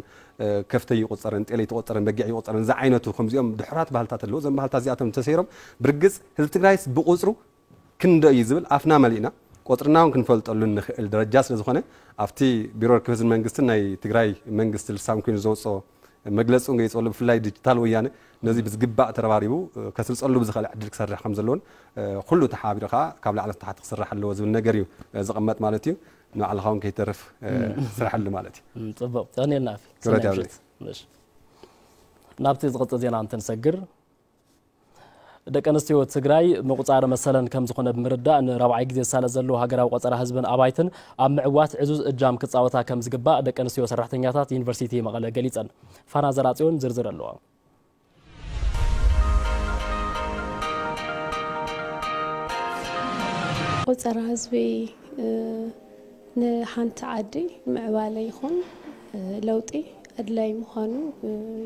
ከፍተይ ይቁፅርን ጤለይ ትቁፅርን በጊዕ ይቁፅርን ዝዓይነቱ ከምዚኦም ድሑራት ባህልታት ኣለዎ። እዞም ባህልታት እዚኣቶም ተሰይሮም ብርግፅ ህዝቢ ትግራይስ ብቁፅሩ ክንደይ እዩ ዝብል ኣፍና መሊእና ቆፅርና እውን ክንፈልጠሉ እንኽእል ደረጃ ስለ ዝኾነ ኣብቲ ቢሮ ርክብ ህዝብን መንግስትን ናይ ትግራይ መንግስቲ ልሳን ኮይኑ ዘውፅኦ መግለፂ እውን ገይፀሉ ብፍላይ ዲጂታል ወያነ ነዚ ብዝግባእ ተረባሪቡ ከስርፀሉ ብዝኽእል ዕድል ክሰርሕ ከም ዘለዎን ኩሉ ተሓቢሩ ከዓ ካብ ላዕሊ ታሕቲ ክስራሕ ኣለዎ ዝብል ነገር እዩ ዝቕመጥ ማለት እዩ። ንባዕልኻ እውን ከይተርፍ ስራሕሉ ማለት እዩ። ጽቡቕ፣ ቀኒልና ኣፊ። ክብረት ሰናይ ያብለይ። ምሽት። እሺ። ናብቲ ዝቕጽል ዜና እንትንሰግር ደቂ ኣንስትዮ ትግራይ ምቑጻር መሰለን ከም ዝኾነ ብምርዳእ ንራብዓይ ግዜ ዝሳለ ዘሎ ሃገራዊ ቆጸራ ህዝብን ኣባይትን ኣብ ምዕዋት ዕዙዝ እጃም ክጻወታ ከም ዝግባእ ደቂ ኣንስትዮ ሰራሕተኛታት ዩኒቨርሲቲ መቐለ ገሊጸን። ፋና ዘራጽዮን ዝርዝር ኣለዎ። ቆጸራ ህዝቢ ንሓንቲ ዓዲ ምዕባለ ይኹን ለውጢ ኣድላይ ምዃኑ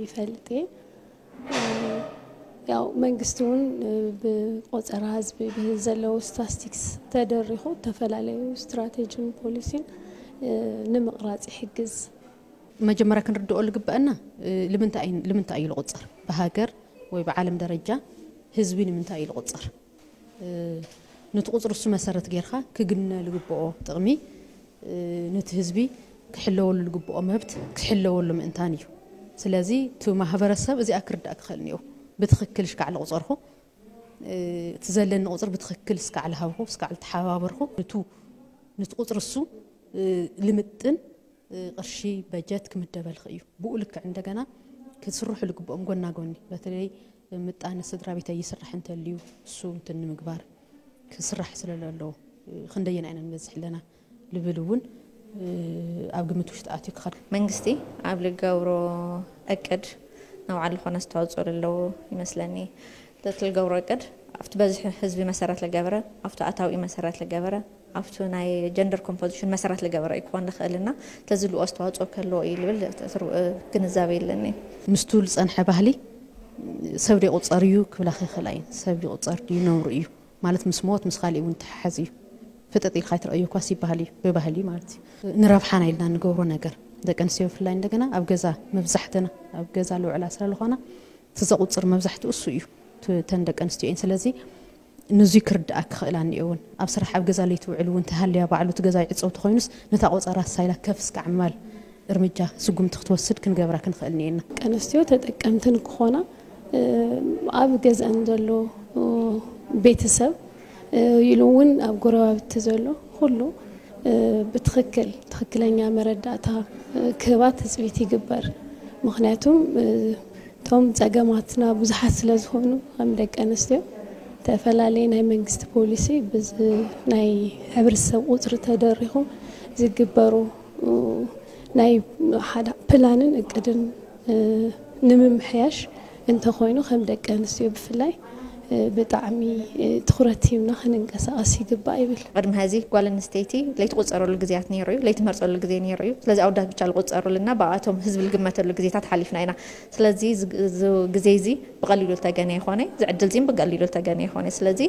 ይፈልጥ እየ። ያው መንግስቲ እውን ብቆጸራ ህዝቢ ብዘለዉ ስታስቲክስ ተደሪኹ ዝተፈላለዩ ስትራቴጂን ፖሊሲን ንምቕራፅ ይሕግዝ። መጀመርያ ክንርድኦ ዝግበአና ልምንታይ እዩ ልቁፀር ብሃገር ወይ ብዓለም ደረጃ ህዝቢ ንምንታይ እዩ ዝቁፀር? ነቲ ቁፅሪ እሱ መሰረት ጌርካ ክግነ ዝግበኦ ጥቕሚ ነቲ ህዝቢ ክሕለወሉ ዝግበኦ መብት ክሕለወሉ ምእንታን እዩ። ስለዚ እቲ ማህበረሰብ እዚኣ ክርዳእ ክኽእል እኒኦ። ብትኽክል ሽካዕ ዝቁፀርኹ እቲ ዘለኒ ቁፅሪ ብትኽክል እስካዕ ዝሃብኹ እስካዕ ዝተሓባበርኹ ንቱ ነቲ ቁፅሪ እሱ ልምጥን ቅርሺ በጀት ክምደበልኺ እዩ። ብኡ ልክዕ እንደገና ክስርሑ ዝግብኦም ጎና ጎኒ በተለይ ምጣነ ስድራ ቤት ኣይስራሕ እንተልዩ እሱ እንትን ንምግባር ክስራሕ ስለ ዘለዎ ክንደየና ኢና ንበዝሕ ኣለና ልብል እውን ኣብ ግምት ውሽጢ ኣትዩ ክኸድ መንግስቲ ኣብ ልገብሮ እቅድ ንባዕሉ ዝኾነ ኣስተዋፅኦ ዘለዎ ይመስለኒ። እቲ ልገብሮ እቅድ ኣብቲ በዝሒ ህዝቢ መሰረት ልገበረ ኣብቲ ኣታዊ መሰረት ልገበረ ኣብቲ ናይ ጀንደር ኮምፖዚሽን መሰረት ልገበረ እዩ ክኾን ልኽእል እና ተዝልኡ ኣስተዋፅኦ ከለዎ እዩ ልብል ግንዛበ የለኒ። ምስቱ ዝፀንሐ ባህሊ ሰብ ደይቁፀር እዩ ክብላ ከይኽእላ እየን። ሰብ ይቁፀር ድዩ ነውሩ እዩ ማለት ምስ ሞት ምስ ካሊእ እውን ተሓሓዝ እዩ። ፍጥጥ ኢልካ ኣይትረእዮ ኳስ ይበሃል እዩ ብባህሊ ማለት እዩ። ንረብሓና ኢልና ንገብሮ ነገር ደቂ ኣንስትዮ ብፍላይ እንደገና ኣብ ገዛ መብዛሕትና ኣብ ገዛ ልውዕላ ስለ ዝኾና እቲ ዘቑፅር መብዛሕትኡ እሱ እዩ። እተን ደቂ ኣንስትዮ እየን። ስለዚ ንዙይ ክርድኣ ክኽእላ እኒኦ እውን ኣብ ስራሕ ኣብ ገዛ ለይቲ ውዕል እውን ተሃልያ ባዕሉ እቲ ገዛ ይዕፀው ተኮይኑስ ነታ ቆፀራ ሳይላ ከፍ እስካዕ ምባል እርምጃ ስጉምቲ ክትወስድ ክንገብራ ክንኽእል እኒኤና። ደቂ ኣንስትዮ ተጠቀምቲ ንክኾና ኣብ ገዝአን ዘሎ ቤተሰብ ኢሉ እውን ኣብ ጎረባብቲ ዘሎ ኩሉ ብትኽክል ትኽክለኛ መረዳእታ ክህባ ትፅቢት ይግበር። ምኽንያቱም እቶም ፀገማትና ብዙሓት ስለ ዝኾኑ ከም ደቂ ኣንስትዮ ዝተፈላለየ ናይ መንግስቲ ፖሊሲ ብዚ ናይ ሕብረተሰብ ቁፅሪ ተደሪኹ ዝግበሩ ናይ ሓደ ፕላንን እቅድን ንምምሕያሽ እንተኾይኑ ከም ደቂ ኣንስትዮ ብፍላይ ብጣዕሚ ትኹረት ሂብና ክንንቀሳቐስ ይግባእ ይብል። ቅድሚ ሕዚ ጓል ኣንስተይቲ ለይትቑፀረሉ ግዜያት ነይሩ እዩ፣ ለይትመርፀሉ ግዜ ነይሩ እዩ። ስለዚ ኣወዳት ብቻ ዝቑፀሩልና ብኣቶም ህዝቢ ዝግመተሉ ግዜታት ሓሊፍና ኢና። ስለዚ ግዜ እዚ ብቐሊሉ ዝተገነ ይኾነ፣ እዚ ዕድል እዚ ብቐሊሉ ዝተገነ ይኾነ። ስለዚ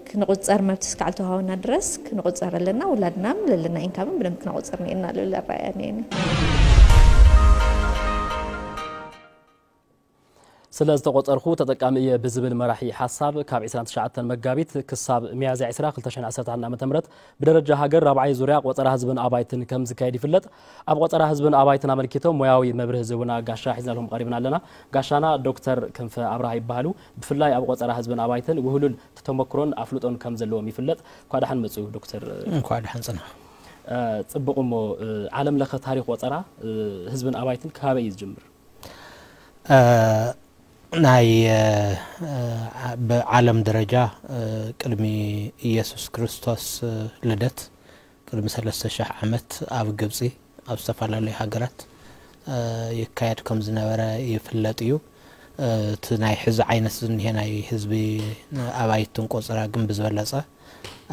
ክንቑፀር መብት እስካዕ ዝተዋሃበና ድረስ ክንቑፀር ኣለና። ውላድና ለለና ኢንካምን ብደንብ ክነቑፅር ኒኤና ልብል ኣረኣያ ኒኤኒ። ስለ ዝተቖጸርኹ ተጠቃሚ እየ ብዝብል መራሒ ሓሳብ፣ ካብ ዕስራን ትሽዓተን መጋቢት ክሳብ ሚያዝያ ዕስራ ክልተ ሽሕን ዓሰርተ ሓደን ዓመተ ምህረት ብደረጃ ሃገር ራብዓይ ዙርያ ቆጸራ ህዝብን ኣባይትን ከም ዝካየድ ይፍለጥ። ኣብ ቆጸራ ህዝብን ኣባይትን ኣመልኪቶም ሞያዊ መብርሂ ዝህቡና ጋሻ ሒዝናልኩም ቀሪብና ኣለና። ጋሻና ዶክተር ክንፈ ኣብርሃ ይበሃሉ። ብፍላይ ኣብ ቆጸራ ህዝብን ኣባይትን ውህሉል ተመክሮን ኣፍልጦን ከም ዘለዎም ይፍለጥ። እንኳዕ ደሓን መጹ ዶክተር። እንኳዕ ደሓን ጸናሕ። እ፣ ጽቡቕ እሞ፣ እ፣ ዓለም ለኸ ታሪኽ ቆጸራ፣ እ፣ ህዝብን ኣባይትን ካበይ እዩ ዝጅምር? እ፣ ናይ፣ እ፣ እ፣ ብዓለም ደረጃ፣ እ፣ ቅድሚ ኢየሱስ ክርስቶስ፣ እ፣ ልደት ቅድሚ ሰለስተ ሽሕ ዓመት ኣብ ግብጺ፣ ኣብ ዝተፈላለዩ ሃገራት፣ እ፣ ይካየድ ከም ዝነበረ ይፍለጥ እዩ። እ፣ እቲ ናይ ሕዚ ዓይነት ዝንሄ ናይ ህዝቢ ኣባይትን ቆጸራ ግን ብዝበለጸ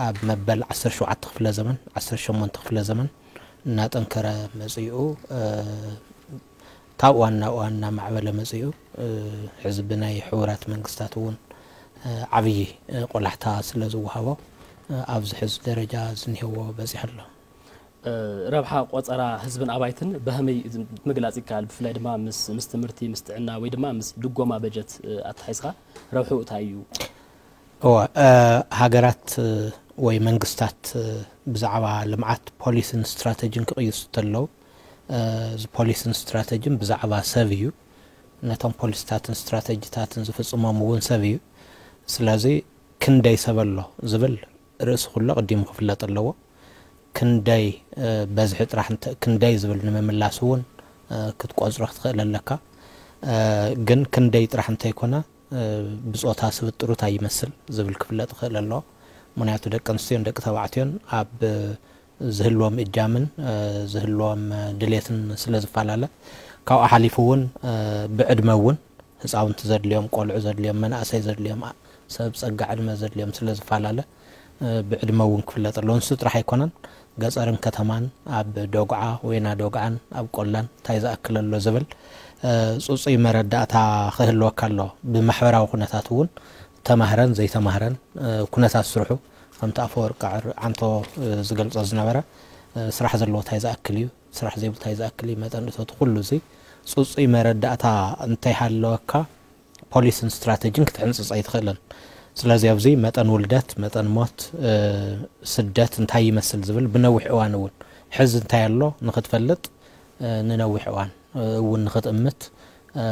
ኣብ መበል ዓሰርተ ሸውዓተ ክፍለ ዘመን፣ ዓሰርተ ሸሞንተ ክፍለ ዘመን እናጠንከረ መጺኡ፣ እ፣ ካብ እዋን ናብ እዋን እናማዕበለ መጺኡ፣ እ፣ ሕዚ ብናይ ሕቡራት መንግስታት እውን፣ እ፣ ዓብዪ፣ እ፣ ቆላሕታ ስለ ዝወሃቦ፣ እ፣ ኣብዚ ሕዚ ደረጃ ዝንሄዎ በጺሑ ኣሎ። እ፣ ረብሓ ቆጸራ ህዝብን ኣባይትን ብኸመይ ምግላጽ ይከኣል? ብፍላይ ድማ ምስ፣ ምስ ትምህርቲ፣ ምስ ጥዕና ወይ ድማ ምስ ድጎማ በጀት፣ እ፣ ኣተሓሒዝካ ረብሕኡ እንታይ እዩ? እወ፣ እ፣ ሃገራት፣ እ፣ ወይ መንግስታት፣ እ፣ ብዛዕባ ልምዓት ፖሊስን ስትራተጂን ክቕይሱ እንተለዉ፣ እ፣ እዚ ፖሊስን ስትራተጂን ብዛዕባ ሰብ እዩ። ነቶም ፖሊስታትን ስትራተጂታትን ዝፍጽሞም እውን ሰብ እዩ። ስለዚ ክንደይ ሰብ ኣሎ ዝብል ርእሲ ኩሉ ኣቐዲሙ ክፍለጥ ኣለዎ። ክንደይ፣ እ፣ በዝሒ ጥራሕ እንተ-፣ ክንደይ ዝብል ንምምላስ እውን፣ እ፣ ክትቆጽሮ ክትኽእል ኣለካ። እ፣ ግን ክንደይ ጥራሕ እንተይኮነ፣ እ፣ ብጾታ ስብጥሩ እንታይ ይመስል ዝብል ክፍለጥ ይኽእል ኣለዎ። ምኽንያቱ ደቂ ኣንስትዮን ደቂ ተባዕትዮን ኣብ ዝህልዎም እጃምን፣ እ፣ ዝህልዎም፣ እ፣ ድሌትን ስለ ዝፈላለ፣ ካብኡ ሓሊፉ እውን፣ እ፣ ብዕድመ እውን ህፃውንቲ ዘድልዮም፣ ቆልዑ ዘድልዮም፣ መናእሰይ ዘድልዮም፣ ኣ-፣ ሰብ ፀጋ ዕድመ ዘድልዮም ስለ ዝፈላለ፣ እ፣ ብዕድመ እውን ክፍለጥ ኣለዎ። ንሱ ጥራሕ ኣይኮነን፣ ገፀርን ከተማን፣ ኣብ ዶግዓ፣ ወይና ዶግዓን፣ ኣብ ቆላን እንታይ ዝኣክል ኣሎ ዝብል፣ እ፣ ፅፁይ መረዳእታ ክህልወካ ኣሎ። ብማሕበራዊ ኩነታት እውን ተማህረን ዘይተማህረን፣ እ፣ ኩነታት ስርሑ ከምቲ ኣፈወርቂ ዓር-፣ ዓንቶ፣ እ፣ ዝገልጾ ዝነበረ፣ እ፣ ስራሕ ዘለዎ እንታይ ዝኣክል እዩ፣ ስራሕ ዘይብሉ እንታይ ዝኣክል እዩ፣ መጠን እቶት ኩሉ እዚ ጽጹይ መረዳእታ እንተይሃለወካ ፖሊስን ስትራተጂን ክትሕንጽጽ ኣይትኽእልን። ስለዚ ኣብዚ መጠን ውልደት፣ መጠን ሞት፣ እ፣ ስደት እንታይ ይመስል ዝብል ብነዊሕ እዋን እውን ሕዚ እንታይ ኣሎ ንኽትፈልጥ፣ እ፣ ንነዊሕ እዋን፣ እ፣ እውን ንኽትእምት፣ እ፣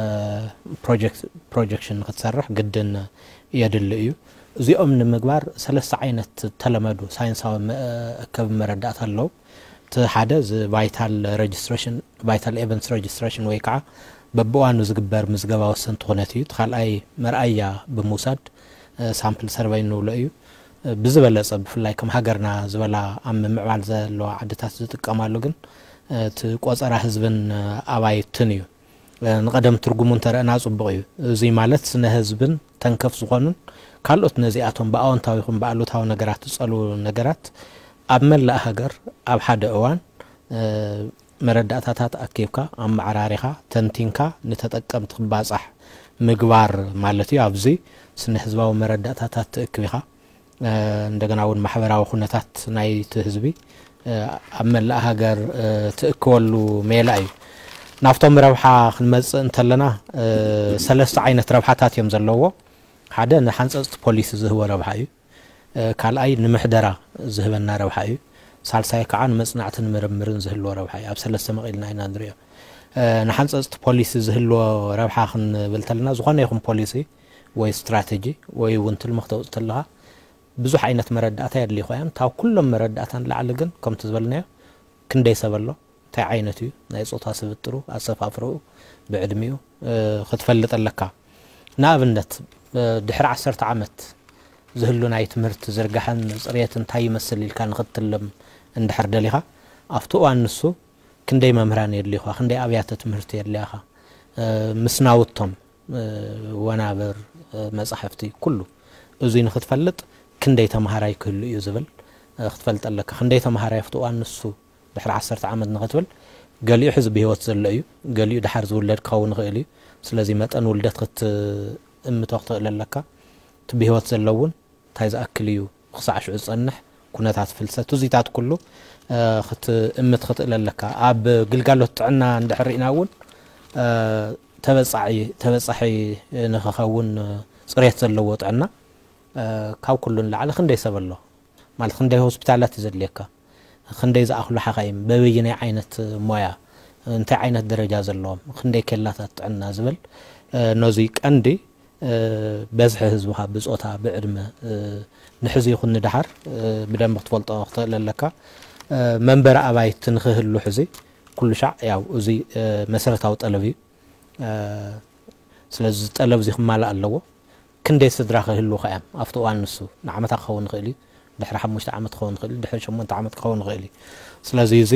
ፕሮጀክት-፣ ፕሮጀክሽን ንኽትሰርሕ ግድን የድሊ እዩ። እዚኦም ንምግባር ሰለስተ ዓይነት ተለመዱ ሳይንሳዊ መ-፣ እከብ መረዳእታ ኣለዉ። እቲ ሓደ እዚ ቫይታል ረጅስትሬሽን፣ ቫይታል ኤቨንትስ ረጅስትሬሽን ወይ ከዓ በብእዋኑ ዝግበር ምዝገባ ወሰንቲ ኩነት እዩ። እቲ ካልኣይ መርኣያ ብምውሳድ፣ እ፣ ሳምፕል ሰርቨይ እንብሎ እዩ። እ፣ ብዝበለጸ ብፍላይ ከም ሃገርና ዝበላ ኣብ ምምዕባል ዘለዋ ዓድታት ዝጥቀማሉ ግን፣ እ፣ እቲ ቆጸራ ህዝብን፣ እ፣ ኣባይትን እዩ። እ፣ ንቐደም ትርጉሙ እንተረእና ጽቡቕ እዩ። እዙይ ማለት ስነ ህዝብን ተንከፍ ዝኾኑን ካልኦት ነዚኣቶም ብኣወንታዊ ይኹን ብኣሉታዊ ነገራት ዝጸልዉ ነገራት ኣብ መላእ ሃገር ኣብ ሓደ እዋን፣ እ፣ መረዳእታታት ኣኪብካ፣ ኣመዓራሪኻ፣ ተንቲንካ ንተጠቀምቲ ክባጻሕ ምግባር ማለት እዩ። ኣብዚ ስነ ህዝባዊ መረዳእታታት ትእክብ ኢኻ። እ፣ እንደገና እውን ማሕበራዊ ኩነታት ናይቲ ህዝቢ፣ እ፣ ኣብ መላእ ሃገር፣ እ፣ ትእክበሉ ሜላ እዩ። ናብቶም ረብሓ ክንመጽእ እንተለና፣ እ፣ ሰለስተ ዓይነት ረብሓታት እዮም ዘለዎ። ሓደ ንሓንጸጽቲ ፖሊሲ ዝህቦ ረብሓ እዩ። እ፣ ካልኣይ ንምሕደራ ዝህበና ረብሓ እዩ። ሳልሳይ ከዓ ንመጽናዕትን ምርምርን ዝህልዎ ረብሓ እዩ። ኣብ ሰለስተ መቒልና ኢና ንሪኦ። እ፣ ንሓንጸጽቲ ፖሊሲ ዝህልዎ ረብሓ ክንብል ተለና፣ ዝኾነ ይኹን ፖሊሲ ወይ ስትራተጂ ወይ እውን ትልሚ ክተውጽእ ተለኻ ብዙሕ ዓይነት መረዳእታ የድልዩኻ እዮም። ካብ ኩሎም መረዳእታ ንላዕሊ ግን ከምቲ ዝበልናዮ ክንደይ ሰብ ኣሎ፣ እንታይ ዓይነት እዩ ናይ ጾታ ስብጥሩ፣ ኣሰፋፍርኡ፣ ብዕድሚኡ፣ እ፣ ክትፈልጥ ኣለካ። ንኣብነት፣ እ፣ ድሕሪ ዓሰርተ ዓመት ዝህሉ ናይ ትምህርቲ ዝርጋሐን ጽሬትን እንታይ ይመስል ኢልካ ንኽትልም እንድሕር ደሊኻ፣ ኣብቲ እዋን ንሱ ክንደይ መምህራን የድልዩኻ፣ ክንደይ ኣብያተ ትምህርቲ የድልያኻ፣ እ፣ ምስ ናውቶም፣ እ፣ ወናብር፣ እ፣ መጻሕፍቲ፣ ኩሉ እዙይ ንኽትፈልጥ ክንደይ ተምሃራይ ክህሉ እዩ ዝብል፣ እ፣ ክትፈልጥ ኣለካ። ክንደይ ተምሃራይ ኣብቲ እዋን ንሱ ድሕሪ ዓሰርተ ዓመት ንኽትብል ገሊኡ ሕዚ ብህይወት ዘሎ እዩ፣ ገሊኡ ድሓር ዝውለድ ክኸውን ይኽእል እዩ። ስለዚ መጠን ውልደት ክትእምቶ ክትኽእል ኣለካ። እቲ ብህይወት ዘሎ እውን እንታይ ዝኣክል እዩ ክሳዕ ሽዑ ዝጸንሕ፣ ኩነታት ፍልሰት፣ እዚታት ኩሉ፣ እ፣ ክትእምት ክትእል ኣለካ። ኣብ ግልጋሎት ጥዕና እንድሕር ርኢና እውን፣ እ፣ ተበጻሒ ንክኸውን ጽሬት ዘለዎ ጥዕና ካብ ኩሉ ንላዕሊ ክንደይ ሰብ ኣሎ ማለት ክንደይ ሆስፒታላት እዩ ዘድልየካ፣ ክንደይ ዝኣኽሉ ሓኻይም በበይናይ ዓይነት ሞያ እንታይ ዓይነት ደረጃ ዘለዎም ክንደይ ኬላታት ጥዕና ዝብል ነዙይ ቀንዲ በዝሒ ህዝብኻ ብጾታ ብዕድመ ንሕዚ ይኹን ንድሓር ብደንብ ክትፈልጦ ክትኽእል ኣለካ። መንበሪ ኣባይቲ ንክህሉ ሕዚ ኩሉ ሻዕ ያው እዚ መሰረታዊ ጠለብ እዩ። ስለዚ እዚ ጠለብ እዚ ክማላእ ኣለዎ። ክንደይ ስድራ ክህልውኻ እዮም ኣብቲ እዋን ንሱ ንዓመታ ክኸውን ይኽእል እዩ፣ ድሕሪ ሓሙሽተ ዓመት ክኸውን ይኽእል እዩ፣ ድሕሪ ሸሞንተ ዓመት ክኸውን ይኽእል እዩ። ስለዚ እዚ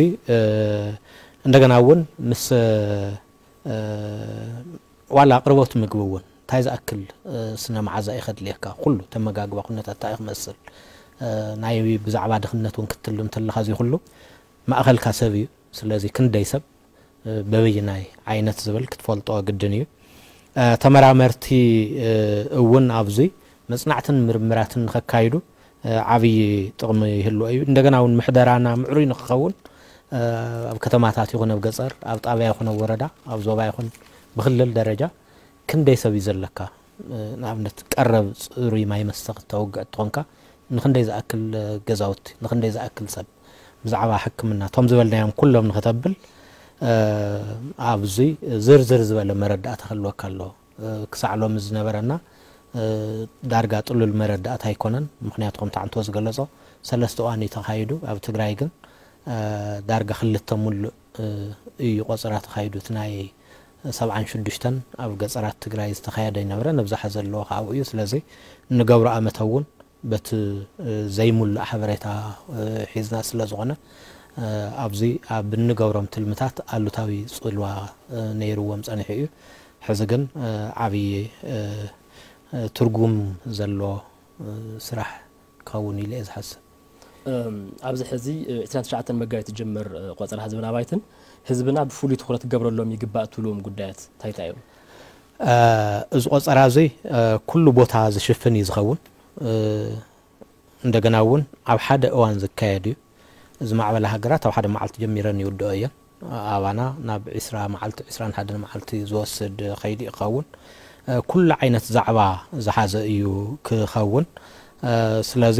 እንደገና እውን ምስ ዋላ ኣቅርቦት ምግቢ እውን እንታይ ዝኣክል ስነ መዓዛ እዩ ከድልየካ፣ ኩሉ ተመጋግባ ኩነታት እንታይ ክመስል ናይ ብዛዕባ ድኽነት እውን ክትትልም ተለኻ እዚ ኩሉ ማእኸልካ ሰብ እዩ። ስለዚ ክንደይ ሰብ በበይናይ ዓይነት ዝብል ክትፈልጦ ግድን እዩ። ተመራመርቲ እውን ኣብዚ መጽናዕትን ምርምራትን ንኸካይዱ ዓብዪ ጥቕሚ ይህልዎ እዩ። እንደገና እውን ምሕደራና ምዕሩይ ንክኸውን ኣብ ከተማታት ይኹን ኣብ ገጠር ኣብ ጣብያ ይኹን ኣብ ወረዳ ኣብ ዞባ ይኹን ብክልል ደረጃ ክንደይ ሰብ እዩ ዘለካ? ንኣብነት ቀረብ ጽሩይ ማይ መስተ ክተውግዕ ትኾንካ ንክንደይ ዝኣክል ገዛውቲ ንክንደይ ዝኣክል ሰብ ብዛዕባ ሕክምና እቶም ዝበልናዮም ኩሎም ንክተብል ኣብዚ ዝርዝር ዝበለ መረዳእታ ክህልወካ ኣለዎ። ክሳዕ ሎሚ ዝነበረና ዳርጋ ጥሉል መረዳእታ ኣይኮነን። ምክንያቱ ከምቲ ዓንቶ ዝገለጾ ሰለስተ እዋን እዩ ተኻይዱ። ኣብ ትግራይ ግን ዳርጋ ክልተ ሙሉእ እዩ ቆጸራ ተኻይዱ። እቲ ናይ ሰብዓን ሽዱሽተን ኣብ ገጸራት ትግራይ ዝተኻየደ ይነበረ ነብዛሓ ዘለዎ ካብኡ እዩ። ስለዚ እንገብሮ ኣመተ እውን በቲ ዘይሙሉእ ሓበሬታ ሒዝና ስለ ዝኾነ ኣብዚ ኣብ እንገብሮም ትልምታት ኣሉታዊ ጽልዋ ነይርዎም ጸኒሑ እዩ። ሕዚ ግን ዓብዪ ትርጉም ዘሎ ስራሕ ክኸውን ኢለ እየ ዝሓስብ። ኣብዚ ሕዚ ዕስራን ትሽዓተን መጋቢት ዝጅምር ቆጸራ ህዝብን ኣባይትን ህዝብና ብፍሉይ ትኹረት ክገብረሎም ይግባእ ትብልዎም ጉዳያት እንታይ እንታይ እዮም? እዚ ቆጸራ እዚ ኩሉ ቦታ ዝሽፍን እዩ ዝኸውን። እንደገና እውን ኣብ ሓደ እዋን ዝካየድ እዩ። እዚ ማዕበላ ሃገራት ኣብ ሓደ መዓልቲ ጀሚረን ይውድኦ እየን። ኣባና ናብ ዕስራ መዓልቲ ዕስራን ሓደን መዓልቲ ዝወስድ ከይዲ ይኸውን። ኩሉ ዓይነት ዛዕባ ዝሓዘ እዩ ክኸውን። ስለዚ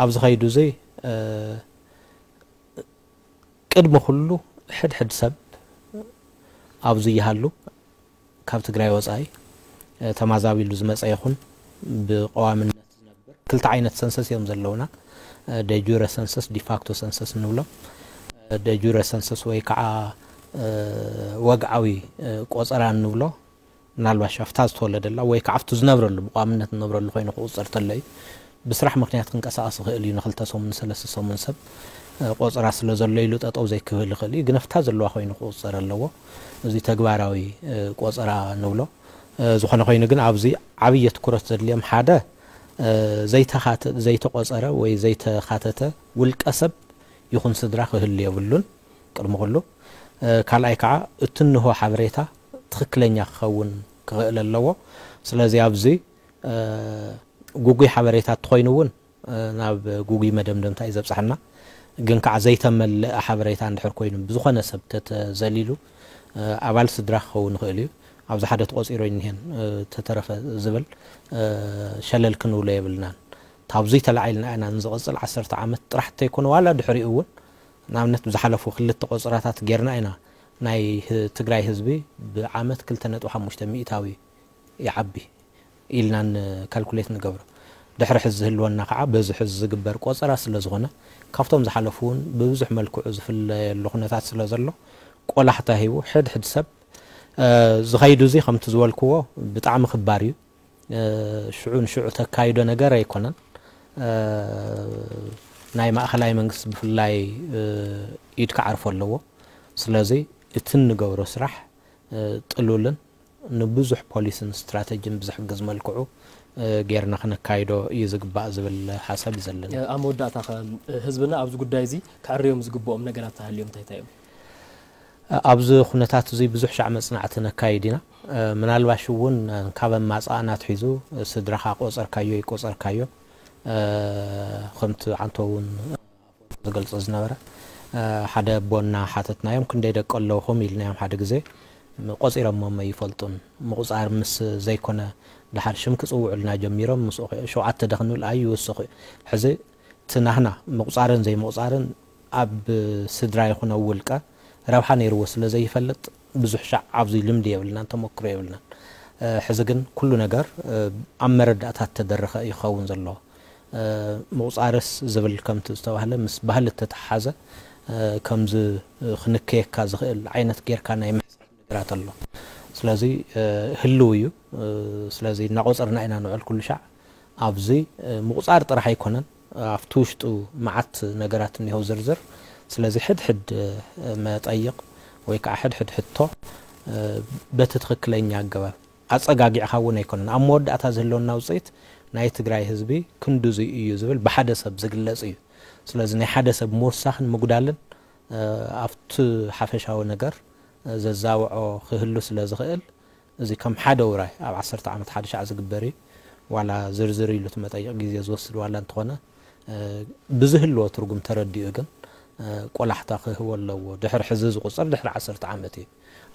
ኣብዚ ከይዱ እዚ ቅድሚ ኩሉ ሕድሕድ ሰብ ኣብዚ ይሃሉ ካብ ትግራይ ወፃኢ ተማዛቢሉ ዝመፀ ይኹን ብቀዋምነት ዝነብር ክልተ ዓይነት ሰንሰስ እዮም ዘለውና። ደጁረ ሰንሰስ ዲፋክቶ ሰንሰስ ንብሎ። ደጁረ ሰንሰስ ወይ ከዓ ወግዓዊ ቆፀራ ንብሎ ምናልባሽ ኣብታ ዝተወለደላ ወይ ከዓ ኣብቲ ዝነብረሉ ብቋምነት ዝነብረሉ ኮይኑ ክቁፀር ተሎ እዩ። ብስራሕ ምክንያት ክንቀሳቀስ ይኽእል እዩ። ንክልተ ሰሙን ንሰለስተ ሰሙን ሰብ ቆፀራ ስለ ዘሎ ኢሉ ጠጠው ዘይክብል ይኽእል እዩ። ግን ኣብታ ዘለዋ ኮይኑ ክቁፀር ኣለዎ። እዚ ተግባራዊ ቆፀራ ንብሎ። ዝኾነ ኮይኑ ግን ኣብዚ ዓብዪ ትኩረት ዘድልዮም ሓደ ዘይተኻተ ዘይተቆፀረ ወይ ዘይተኻተተ ውልቀ ሰብ ይኹን ስድራ ክህሉ የብሉን። ቅድሚ ኩሉ ካልኣይ ከዓ እቲ እንሆ ሓበሬታ ትኽክለኛ ክኸውን ክኽእል ኣለዎ። ስለዚ ኣብዚ ጉጉይ ሓበሬታ እንተኾይኑ እውን ናብ ጉጉይ መደምደምታ እዩ ዘብፅሓና። ግን ከዓ ዘይተመለአ ሓበሬታ እንድሕር ኮይኑ ብዝኾነ ሰብ ተተዘሊሉ ኣባል ስድራ ክኸውን ይኽእል እዩ። ኣብዚ ሓደ ተቆፂሩ እኒሄን ተተረፈ ዝብል ሸለል ክንብሎ የብልናን። ካብዙይ ተላዒልና ኢና ንዝቕፅል ዓሰርተ ዓመት ጥራሕ እንተይኮነ ዋላ ድሕሪኡ እውን ንኣብነት ብዝሓለፉ ክልተ ቆፅራታት ጌርና ኢና ናይ ትግራይ ህዝቢ ብዓመት ክልተ ነጥቢ ሓሙሽተ ሚእታዊ ይዓቢ ኢልና ካልኩሌት ንገብሮ። ድሕሪ ሕዚ ዝህልወና ከዓ በዚ ሕዚ ዝግበር ቆፀራ ስለ ዝኾነ ካብቶም ዝሓለፉ እውን ብብዙሕ መልክዑ ዝፍለየሉ ኩነታት ስለ ዘሎ ቆላሕታ ሂቡ ሕድሕድ ሰብ ዝኸይዱ እዚ ከምቲ ዝበልክዎ ብጣዕሚ ክባር እዩ። ሽዑ ንሽዑ ተካይዶ ነገር ኣይኮነን። ናይ ማእኸላይ መንግስቲ ብፍላይ ኢድ ክዓርፎ ኣለዎ። ስለዚ እቲ እንገብሮ ስራሕ ጥሉልን ንብዙሕ ፖሊስን ስትራተጂን ብዝሕግዝ መልክዑ ጌርና ክነካይዶ እዩ ዝግባእ ዝብል ሓሳብ እዩ ዘለኒ። ኣብ መወዳእታ ከ ህዝብና ኣብዚ ጉዳይ እዚ ክዕርዮም ዝግብኦም ነገራት ተሃልዮም እንታይ እንታይ እዮም? ኣብዚ ኩነታት እዚ ብዙሕ ሻዕ መፅናዕቲ ነካይድ ኢና። ምናልባሽ እውን ካብ ኣማፃእና ኣትሒዙ ስድራኻ ቆፀርካዮ ይቆፀርካዮ ከምቲ ዓንቶ እውን ዝገልፆ ዝነበረ ሓደ ኣቦ እናሓተትናዮም ክንደይ ደቂ ኣለውኹም ኢልናዮም ሓደ ግዜ ቆጺሮሞም ኣይፈልጡን። ምቑጻር ምስ ዘይኮነ፣ ደሓር ሽም ክጽውዑልና ጀሚሮም፣ ምስኡ ሸውዓተ ዶ ክንብል ኣይውስኹ። ሕዚ እቲ ናህና ምቑጻርን ዘይምቑጻርን ኣብ ስድራ ይኹን ኣብ ውልቀ ረብሓ ነይርዎ ስለ ዘይፈልጥ፣ ብዙሕ ሻዕ ኣብዚ ልምዲ የብልናን፣ ተመክሮ የብልናን። እ፣ ሕዚ ግን ኩሉ ነገር፣ እ፣ ኣብ መረዳእታ ተደረኸ እዩ ክኸውን ዘለዎ። እ፣ ምቑጻርስ ዝብል ከምቲ ዝተባህለ ምስ ባህሊ እተተሓሓዘ፣ እ፣ ከምዚ፣ እ፣ ክንከየካ ዝኽእል ዓይነት ጌርካ ናይ ምሕሳብ ነገራት ኣሎ። ስለዚ፣ እ፣ ህልው እዩ። እ፣ ስለዚ እናቖጸርና ኢና ንውዕል ኩሉ ሻዕ። ኣብዚ፣ እ፣ ምቑጻር ጥራሕ ኣይኮነን፣ ኣብቲ ውሽጡ መዓት ነገራት እኒሆ ዝርዝር። ስለዚ ሕድሕድ፣ እ፣ መጠይቕ ወይ ከዓ ሕድሕድ ሕቶ፣ እ፣ በቲ ትኽክለኛ ኣገባብ ኣጸጋጊዕካ እውን ኣይኮነን። ኣብ መወዳእታ ዝህልወና ውፅኢት ናይ ትግራይ ህዝቢ ክንድዙይ እዩ ዝብል ብሓደ ሰብ ዝግለጽ እዩ። ስለዚ ናይ ሓደ ሰብ ምውሳኽን ምጉዳልን፣ እ፣ ኣብቲ ሓፈሻዊ ነገር፣ እ፣ ዘዛውዖ ክህሉ ስለ ዝኽእል፣ እዚ ከም ሓደ ውራይ ኣብ ዓሰርተ ዓመት ሓደ ሻዕ ዝግበር እዩ። ዋላ ዝርዝር ኢሉ እቲ መጠይቕ ግዜ ዝወስድ ዋላ እንተኾነ፣ እ፣ ብዝህልዎ ትርጉም ተረዲኡ ግን፣ እ፣ ቆላሕታ ክህቦ ኣለዎ። ድሕሪ ሕዚ ዝቑጸር ድሕሪ ዓሰርተ ዓመት እዩ።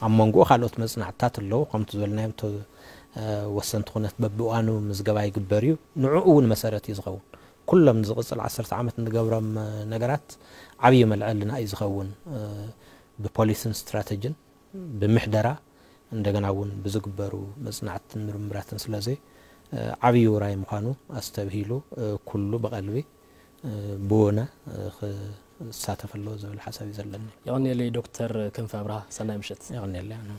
ኣብ መንጎኡ ካልኦት መጽናዕትታት ኣለዉ። ከምቲ ዝበልናዮም፣ እቶ፣ እ፣ ወሰንቲ ኩነት በብእዋኑ ምዝገባ ይግበር እዩ። ንዕኡ እውን መሰረት እዩ ዝኸውን። ኩሎም ዝቕጽል ዓሰርተ ዓመት እንገብሮም፣ እ፣ ነገራት ዓብዪ መልዐልና እዩ ዝኸውን። እ፣ ብፖሊስን ስትራተጅን፣ ብምሕደራ፣ እንደገና እውን ብዝግበሩ መጽናዕትን ምርምራትን። ስለዚ፣ እ፣ ዓብዪ ውራይ ምዃኑ ኣስተብሂሉ፣ እ፣ ኩሉ ብቐልቢ፣ እ፣ ብወነ፣ እ፣ ክሳተፍ ኣለዎ ዝብል ሓሳብ እዩ ዘለኒ። የቐንየለይ ዶክተር ክንፈ ኣብርሃ፣ ሰናይ ምሽት። የቐንየለይ ኣነ።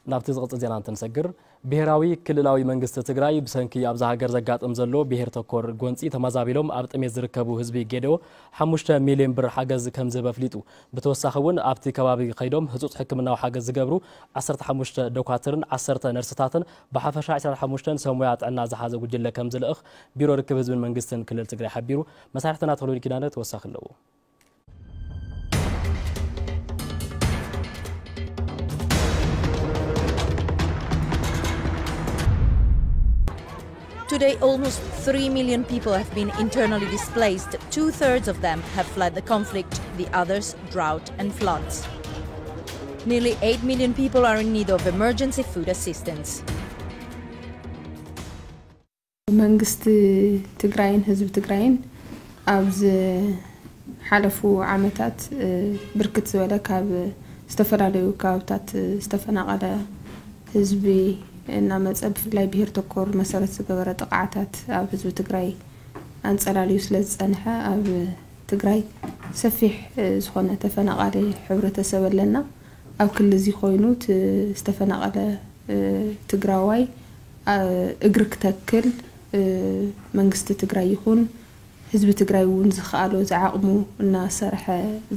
ናብቲ ዝቕጽል ዜና እንትንሰግር፣ ብሄራዊ ክልላዊ መንግስቲ ትግራይ ብሰንኪ ኣብዛ ሃገር ዘጋጥም ዘሎ ብሄር ተኮር ጎንጺ ተመዛቢሎም ኣብ ጥሜት ዝርከቡ ህዝቢ ጌዴኦ ሓሙሽተ ሚልዮን ብር ሓገዝ ከም ዝህብ ኣፍሊጡ። ብተወሳኺ እውን ኣብቲ ከባቢ ከይዶም ህጹጽ ሕክምናዊ ሓገዝ ዝገብሩ ዓሰርተ ሓሙሽተ ዶኳትርን ዓሰርተ ነርስታትን ብሓፈሻ ዕስራን ሓሙሽተን ሰብ ሞያ ጥዕና ዝሓዘ ጉጅለ ከም ዝልእኽ ቢሮ ርክብ ህዝብን መንግስትን ክልል ትግራይ ሓቢሩ። መሳርሕትና ተኽለወልድ ኪዳነ ተወሳኺ ኣለዎ። Today, almost three million people have been internally displaced. Two-thirds of them have fled the conflict, the others, drought and floods. Nearly eight million people are in need of emergency food assistance. መንግስቲ ትግራይን ህዝቢ ትግራይን ኣብ ዝሓለፉ ዓመታት፣ እ፣ ብርክት ዝበለ ካብ ዝተፈላለዩ ከባብታት ዝተፈናቐለ ህዝቢ እናመፀ፣ ብፍላይ ብሄር ተኮር መሰረት ዝገበረ ጥቕዓታት ኣብ ህዝቢ ትግራይ ኣንፀላልዩ ስለ ዝፀንሐ፣ ኣብ ትግራይ ሰፊሕ፣ እ፣ ዝኾነ ተፈናቓሊ ሕብረተሰብ ኣለና። ኣብ ክሊ እዚ ኮይኑ እቲ ዝተፈናቐለ፣ እ፣ ትግራዋይ፣ እ፣ እግሪ ክተክል፣ እ፣ መንግስቲ ትግራይ ይኹን ህዝቢ ትግራይ እውን ዝኸኣሎ ዝዓቕሙ እናሰርሐ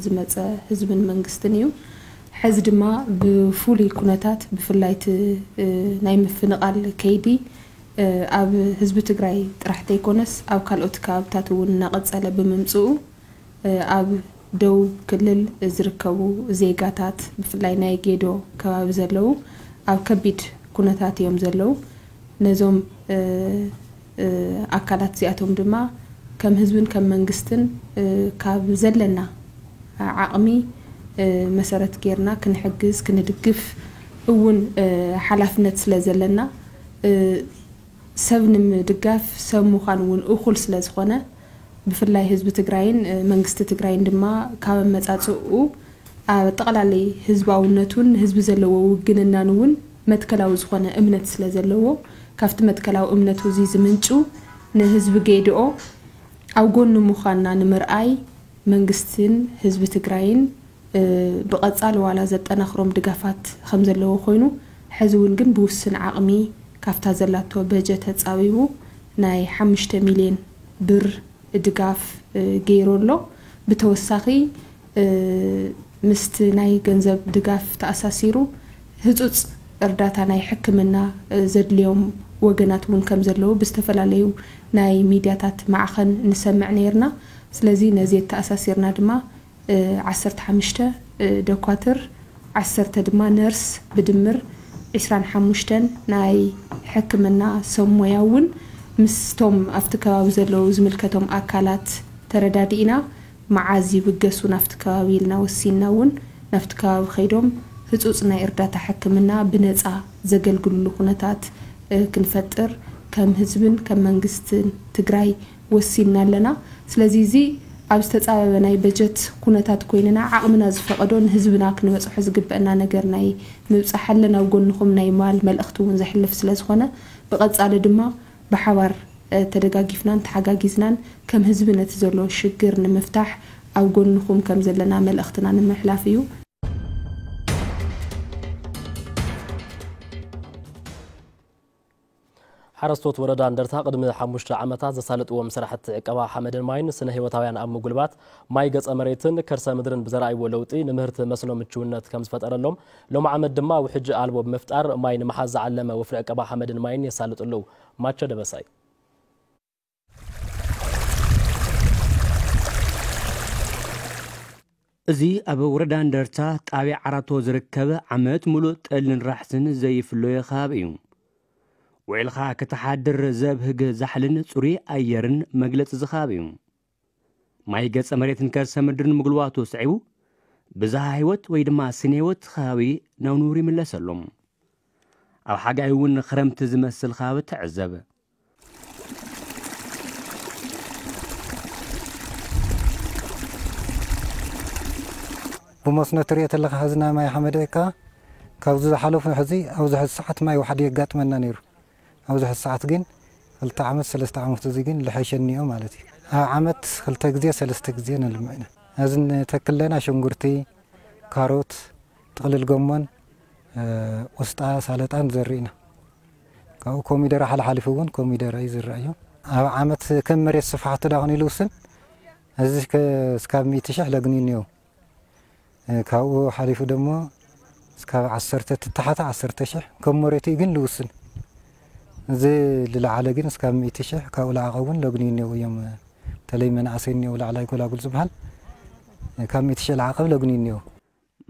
ዝመፀ ህዝብን መንግስትን እዩ። ሕዚ ድማ ብፍሉይ ኩነታት፣ ብፍላይ እቲ፣ እ፣ ናይ ምፍንቓል ከይዲ፣ እ፣ ኣብ ህዝቢ ትግራይ ጥራሕ ተይኮነስ ኣብ ካልኦት ከባብታት እውን እናቐፀለ ብምምፅኡ፣ እ፣ ኣብ ደቡብ ክልል ዝርከቡ ዜጋታት፣ ብፍላይ ናይ ጌዶ ከባቢ ዘለዉ፣ ኣብ ከቢድ ኩነታት እዮም ዘለዉ። ነዞም፣ እ፣ እ፣ ኣካላት እዚኣቶም ድማ ከም ህዝብን ከም መንግስትን፣ እ፣ ካብ ዘለና ዓቕሚ፣ እ፣ መሰረት ጌርና ክንሕግዝ፣ ክንድግፍ እውን፣ እ፣ ሓላፍነት ስለ ዘለና፣ እ፣ ሰብ ንምድጋፍ ሰብ ምዃን እውን እኹል ስለ ዝኾነ፣ ብፍላይ ህዝቢ ትግራይን፣ እ፣ መንግስቲ ትግራይን ድማ ካብ ኣመጻጽእኡ ኣብ ጠቕላሊ ህዝባውነቱን ንህዝቢ ዘለዎ ውግንናን እውን መትከላዊ ዝኾነ እምነት ስለ ዘለዎ፣ ካብቲ መትከላዊ እምነቱ እዚ ዝምንጩ ንህዝቢ ጌድኦ ኣብ ጎኑ ምዃንና ንምርኣይ መንግስትን ህዝቢ ትግራይን፣ እ፣ ብቐጻሊ ዋላ ዘጠናኽሮም ድጋፋት ከም ዘለዎ ኮይኑ፣ ሕዚ እውን ግን ብውስን ዓቕሚ ካብታ ዘላቶ በጀት ተጻቢቡ ናይ ሓሙሽተ ሚልዮን ብር ድጋፍ፣ እ፣ ገይሩ ኣሎ። ብተወሳኺ፣ እ፣ ምስቲ ናይ ገንዘብ ድጋፍ ተኣሳሲሩ ህጹጽ እርዳታ ናይ ሕክምና፣ እ፣ ዘድልዮም ወገናት እውን ከም ዘለዉ ብዝተፈላለዩ ናይ ሚድያታት ማዕኸን ንሰምዕ ነይርና። ስለዚ ነዚ የተኣሳሲርና ድማ፣ እ፣ ዓሰርተ ሓሙሽተ፣ እ፣ ዶኳትር፣ ዓሰርተ ድማ ነርስ፣ ብድምር ዕስራን ሓሙሽተን ናይ ሕክምና ሰብ ሞያ እውን ምስቶም ኣብቲ ከባቢ ዘለዉ ዝምልከቶም ኣካላት ተረዳዲእና፣ መዓዝ ይብገሱ ናብቲ ከባቢ ኢልና ወሲንና እውን ናብቲ ከባቢ ከይዶም ህጹጽ ናይ እርዳታ ሕክምና ብነጻ ዘገልግልሉ ኩነታት ክንፈጥር ከም ህዝብን ከም መንግስትን ትግራይ ወሲንና ኣለና። ስለዚ እዚ ኣብ ዝተጻበበ ናይ በጀት ኩነታት ኮይንና ዓቕምና ዝፈቐዶ ንህዝብና ክንበጽሖ ዝግበአና ነገር ናይ ምብጻሕ ኣለን። ኣብ ጎንኹም ናይ ማል መልእኽቲ እውን ዘሕልፍ ስለ ዝኾነ ብቐጻሊ ድማ ብሓባር ተደጋጊፍናን ተሓጋጊዝናን ከም ህዝቢ ነቲ ዘሎ ሽግር ንምፍታሕ ኣብ ጎንኹም ከም ዘለና መልእኽትና ንምሕላፍ እዩ። ሓረስቶት ወረዳ እንደርታ ቅድሚ ሓሙሽተ ዓመታት ዘሳለጥዎም ስራሕቲ ዕቀባ ሓመድን ማይን ስነ ህይወታውያን ኣብ ምጉልባት ማይ ገፀ መሬትን ከርሰ ምድርን ብዘርኣይዎ ለውጢ ንምህርቲ መስኖ ምችውነት ከም ዝፈጠረሎም ሎም ዓመት ድማ ውሕጅ ኣልቦ ብምፍጣር ማይ ንምሓዝ ዝዓለመ ወፍሪ ዕቀባ ሓመድን ማይን የሳልጡ ኣለዉ። ማቸ ደበሳይ። እዚ ኣብ ወረዳ እንደርታ ጣብያ ዓራቶ ዝርከብ ዓመት ሙሉእ ጠልን ራሕስን ዘይፍለዮ ከባቢ እዩ። ውዒልኻ ክትሓድር ዘብህግ ዛሕልን ፅሩይ ኣየርን መግለፂ እዚ ከባቢ እዩ። ማይ ገፀ መሬትን ከርሰ ምድርን ምግልዋቱ ስዒቡ ብዝሃ ህይወት ወይ ድማ ስነ ህይወት ከባቢ ናብ ንቡር ይምለሰሎም። ኣብ ሓጋይ እውን ክረምቲ ዝመስል ከባቢ ትዕዘብ። ብመስኖ ትሪኦ ተለኻ ሕዚ ናይ ማይ ሓመደ እካ ካብዚ ዝሓለፉ ሕዚ ኣብዚ ሕዚ ሰዓት ማይ ዋሕዲ የጋጥመና ነይሩ። ኣብዚ ሕዚ ሰዓት ግን ክልተ ዓመት ሰለስተ ዓመት እዚ ግን ልሐሸ እኒኦ ማለት እዩ። ኣብ ዓመት ክልተ ግዜ ሰለስተ ግዜ ነልምዕ ኢና። እዚ ንተክል ለና ሽንጉርቲ፣ ካሮት፣ ጥቕልል ጎመን፣ ቁስጣ፣ ሳለጣ ንዘርእ ኢና። ካብኡ ኮሚደረ ሓለሓሊፉ እውን ኮሚደረ ይዝራእ እዩ። ኣብ ዓመት ከም መሬት ስፍሓቱ ዳኹን ኢሉ ውስን እዚ እስካብ ሚእቲ ሽሕ ለግኒ እኒኦ። ካብኡ ሓሊፉ ደሞ እስካብ ዓሰርተ ትታሓተ ዓሰርተ ሽሕ ከም መሬቱ ግን ልውስን። እዚ ልለዓለ ግን እስካብ ሚእቲ ሽሕ ካብኡ ለዓቐ እውን ለግኒ እኒኦ እዮም። በተለይ መናእሰይ እኒኦ ላዕላይ ጎላጉል ዝበሃል ካብ ሚእቲ ሽሕ ለዓቐብ ለግኒ እኒኦ።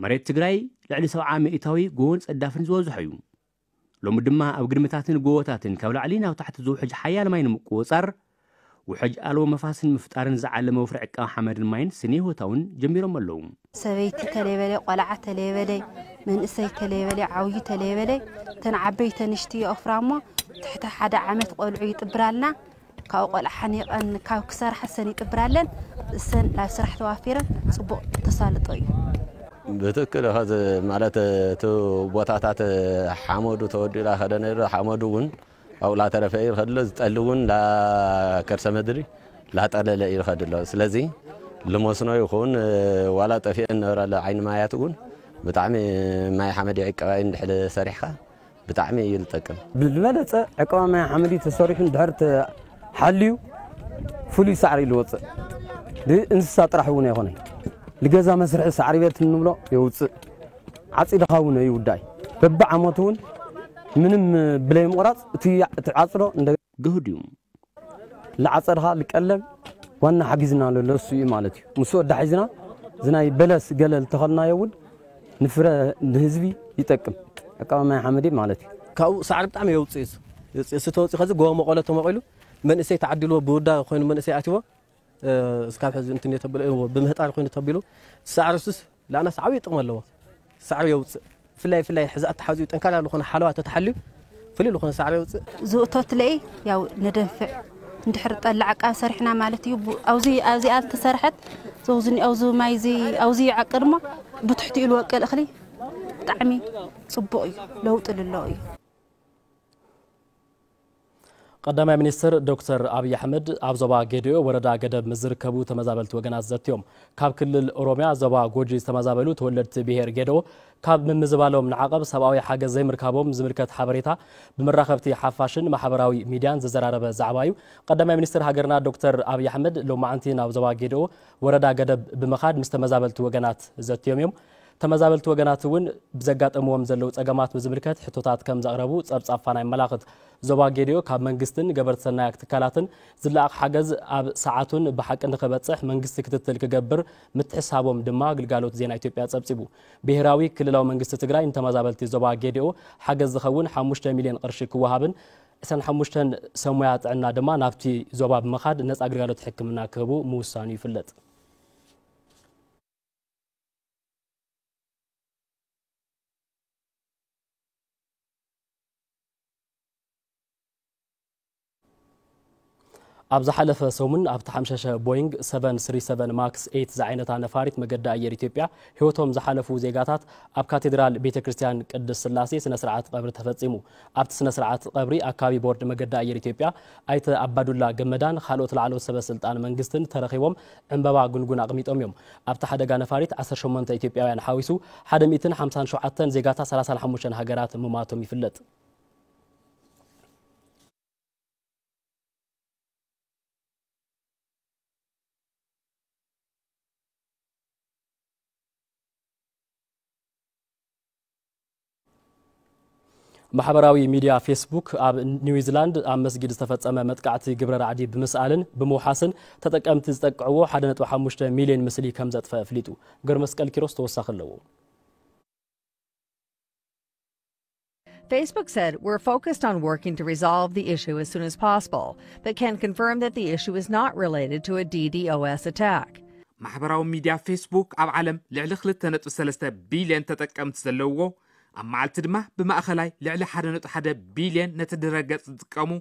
መሬት ትግራይ ልዕሊ ሰብዓ ሚእታዊ ጎቦን ጸዳፍን ዝበዝሖ እዩ። ሎሚ ድማ ኣብ ግድምታትን ጎቦታትን ካብ ላዕሊ ናብ ታሕቲ ዝውሕጅ ሓያል ማይ ንምቁጽጻር ውሕጅ ኣልቦ መፋስን ምፍጣርን ዝዓለመ ወፍሪ ዕቃብ ሓመድን ማይን ስነ ህይወታውን ጀሚሮም ኣለዉ። ሰበይቲ ተለየበለይ፣ ቆልዓ ተለየበለይ፣ መንእሰይ ተለየበለይ፣ ዓብዩ ተለየበለይ፣ እተን ዓበይቲ ኣንሽቲ ይኦፍራ እሞ ትሕቲ ሓደ ዓመት ቆልዑ ይጥብራልና። ካብኡ ቆልዓ ሓኒቐን ካብ ክሰርሓ እሰን ይጥብራለን። እሰን ናብ ስራሕ ተዋፊረን ፅቡቕ ተሳልጦ እዩ። ብትክክል ኸዚ ማለት እቲ ቦታታት ሓመዱ ተወዲኡ ላ ከደ ነይሩ ሓመዱ እውን ኣብኡ ላተረፈ እዩ ዝኸድሎ ዝጠሊ እውን ላከርሰ ምድሪ ላጠለለ እዩ ዝኸድሎ ስለዚ ልመስኖ ይኹን ዋላ ጠፊአን ነበራ ዓይኒ ማያት እውን ብጣዕሚ ማይ ሓመድ ይዕቀባይ እንድሕር ሰሪሕካ ብጣዕሚ እዩ ዝጠቅም። ብዝበለፀ ዕቀባ ማይ ሓመድ ተሰሪሑ እንድሕር ተሓልዩ ፍሉይ ሳዕሪ እዩ ዝወፅእ። ንእንስሳ ጥራሕ እውን ኣይኮነን። ንገዛ መስርሒ ሳዕሪ ቤት እንብሎ የውፅእ። ዓፂድኻ እውን ይውዳእ እዩ። በብዓመቱ እውን ምንም ብለይ ምቑራፅ እቲ ዓፅዶ እንደ ግህድ እዩ። ልዓፀድኻ ልቀለብ ዋና ሓጊዝና ዘሎ እሱ እዩ ማለት እዩ። ምስ ወዳ ሒዝና ዝናይ በለስ ገለ ልተኸልናዮ እውን ንፍረ ንህዝቢ ይጠቅም። ዕቃባ ማይ ሓመድ ማለት እዩ። ካብኡ ሳዕሪ ብጣዕሚ የውፅእ እዩ። የውፅእ እሱ ተወፂኡ ከዚ ጎቦ መቐሎ ተመቒሉ መንእሰይ ተዓዲልዎ ብውዳ ኮይኑ መንእሰይ ኣትዎ እስካብ ሕዚ እንትን እየ ተብሎ እዎ ብምህጣር ኮይኑ ተቢሉ ሳዕሪ እሱስ ለኣናስ ዓብዪ ጥቕሚ ኣለዎ። ሳዕሪ የውፅእ ብፍላይ ብፍላይ ሕዚ ኣተሓዚኡ ጠንካራ ዝኾነ ሓለዋ ተተሓልዩ ፍሉይ ዝኾነ ሳዕሪ የውፅእ። ዝእቶት ለኢ ያው ነደንፍዕ እንድሕር ጠላዕ ቃብ ሰሪሕና ማለት እዩ። ኣብዚ ኣብዚኣ ዝተሰርሐት ዘውዝኒ ኣብዚ ማይ እዚ ኣብዚ ይዓቅድ እሞ ብትሕቲኡ ልወቅል እኽሊ ብጣዕሚ ፅቡቕ እዩ፣ ለውጢ ልለዎ እዩ። ቀዳማይ ሚኒስትር ዶክተር ኣብይ ኣሕመድ ኣብ ዞባ ጌዲኦ ወረዳ ገደብ ምስ ዝርከቡ ተመዛበልቲ ወገናት ዘትዮም። ካብ ክልል ኦሮሚያ ዞባ ጎጂ ዝተመዛበሉ ተወለድቲ ብሄር ጌዲኦ ካብ ምምዝባሎም ንዓቐብ ሰብኣዊ ሓገዝ ዘይምርካቦም ዝምልከት ሓበሬታ ብመራኸብቲ ሓፋሽን ማሕበራዊ ሚድያን ዘዘራረበ ዛዕባ እዩ። ቀዳማይ ሚኒስትር ሃገርና ዶክተር ኣብይ ኣሕመድ ሎማዕንቲ ናብ ዞባ ጌዲኦ ወረዳ ገደብ ብምኻድ ምስ ተመዛበልቲ ወገናት ዘትዮም እዮም። ተመዛበልቲ ወገናት እውን ብዘጋጠምዎም ዘለዉ ጸገማት ብዝምልከት ሕቶታት ከም ዘቕረቡ ጸብጻብ ፋና የመላኽት። ዞባ ጌዲኦ ካብ መንግስትን ገበርቲ ሰናያት ትካላትን ዝለኣኽ ሓገዝ ኣብ ሰዓቱን ብሓቂ ንኽበጽሕ መንግስቲ ክትትል ክገብር ምትሕስሳቦም ድማ ግልጋሎት ዜና ኢትዮጵያ ጸብጺቡ። ብሄራዊ ክልላዊ መንግስቲ ትግራይ ንተመዛበልቲ ዞባ ጌዲኦ ሓገዝ ዝኸውን ሓሙሽተ ሚልዮን ቅርሺ ክወሃብን ዕስራን ሓሙሽተን ሰብ ሞያ ጥዕና ድማ ናብቲ ዞባ ብምኻድ ነጻ ግልጋሎት ሕክምና ክህቡ ምውሳኑ ይፍለጥ። ኣብ ዝሓለፈ ሰሙን ኣብቲ ሓምሸሸ ቦይንግ ሰቨን ስሪ ሰቨን ማክስ ኤይት ዝዓይነታ ነፋሪት መገዲ ኣየር ኢትዮጵያ ህይወቶም ዝሓለፉ ዜጋታት ኣብ ካቴድራል ቤተ ክርስቲያን ቅድስት ስላሴ ስነ ስርዓት ቀብሪ ተፈጺሙ። ኣብቲ ስነ ስርዓት ቀብሪ ኣካቢ ቦርድ መገዲ ኣየር ኢትዮጵያ ኣይተ ኣባዱላ ገመዳን ካልኦት ላዕለዎት ሰበ ስልጣን መንግስትን ተረኺቦም ዕምበባ ጉንጉን ኣቕሚጦም እዮም። ኣብቲ ሓደጋ ነፋሪት ዓሰርተ ሸሞንተ ኢትዮጵያውያን ሓዊሱ ሓደ ሚእትን ሓምሳን ሸውዓተን ዜጋታት ሰላሳን ሓሙሽተን ሃገራት ምሟቶም ይፍለጥ። ማሕበራዊ ሚድያ ፌስቡክ ኣብ ኒውዚላንድ ኣብ መስጊድ ዝተፈጸመ መጥቃዕቲ ግብረ ራዕዲ ብምስኣልን ብምውሓስን ተጠቀምቲ ዝጠቅዕዎ ሓደ ነጥቢ ሓሙሽተ ሚልዮን ምስሊ ከም ዘጥፈ ኣፍሊጡ። ገብረ መስቀል ኪሮስ ተወሳኺ ኣለዎ። Facebook said, "We're focused on working to resolve the issue as soon as possible, but can confirm that the issue is not related to a DDoS attack." ማሕበራዊ ሚድያ ፌስቡክ ኣብ ዓለም ልዕሊ ክልተ ነጥቢ ሰለስተ ቢልዮን ተጠቀምቲ ዘለውዎ፣ ኣብ መዓልቲ ድማ ብማእኸላይ ልዕሊ ሓደ ነጥቢ ሓደ ቢልዮን ነቲ ድረገጽ ዝጥቀሙ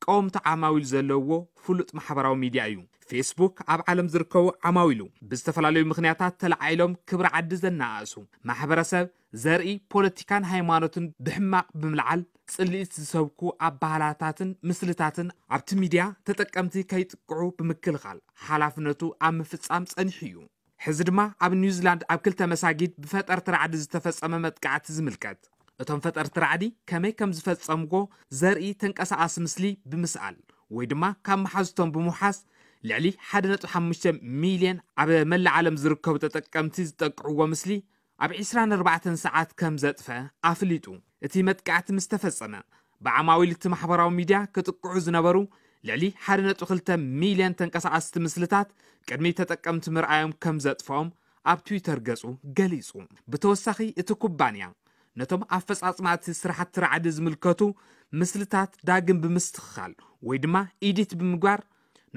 ቀወምቲ ዓማዊል ዘለውዎ ፍሉጥ ማሕበራዊ ሚድያ እዩ። ፌስቡክ ኣብ ዓለም ዝርከቡ ዓማዊሉ ብዝተፈላለዩ ምኽንያታት ተለዓዒሎም ክብሪ ዓዲ ዘነኣእሱ፣ ማሕበረሰብ፣ ዘርኢ፣ ፖለቲካን ሃይማኖትን ብሕማቕ ብምልዓል ጽልኢት ዝሰብኩ ኣባህላታትን ምስልታትን ኣብቲ ሚድያ ተጠቀምቲ ከይጥቅዑ ብምክልኻል ሓላፍነቱ ኣብ ምፍጻም ጸኒሑ እዩ። ሕዚ ድማ ኣብ ኒውዚላንድ ኣብ ክልተ መሳጊድ ብፈጠርቲ ራዕዲ ዝተፈጸመ መጥቃዕቲ ዝምልከት፣ እቶም ፈጠርቲ ራዕዲ ከመይ ከም ዝፈጸምዎ ዘርኢ ተንቀሳቓሲ ምስሊ ብምስኣል ወይ ድማ ካብ መሓዙቶም ብምውሓስ ልዕሊ ሓደ ነጥቢ ሓሙሽተ ሚልዮን ኣብ መላእ ዓለም ዝርከቡ ተጠቀምቲ ዝጠቅዕዎ ምስሊ ኣብ ዕስራን ኣርባዕተን ሰዓት ከም ዘጥፈ ኣፍሊጡ። እቲ መጥቃዕቲ ምስ ተፈጸመ ብዓማዊል እቲ ማሕበራዊ ሚድያ ክጥቅዑ ዝነበሩ ልዕሊ ሓደ ነጥቢ ክልተ ሚልዮን ተንቀሳቐስቲ ምስልታት ቅድሚ ተጠቀምቲ ምርኣዮም ከም ዘጥፍኦም ኣብ ትዊተር ገጹ ገሊጹ። ብተወሳኺ እቲ ኩባንያ ነቶም ኣፈጻጽማ እቲ ስራሕቲ ራዕዲ ዝምልከቱ ምስልታት ዳግም ብምስትኽኻል ወይ ድማ ኢዲት ብምግባር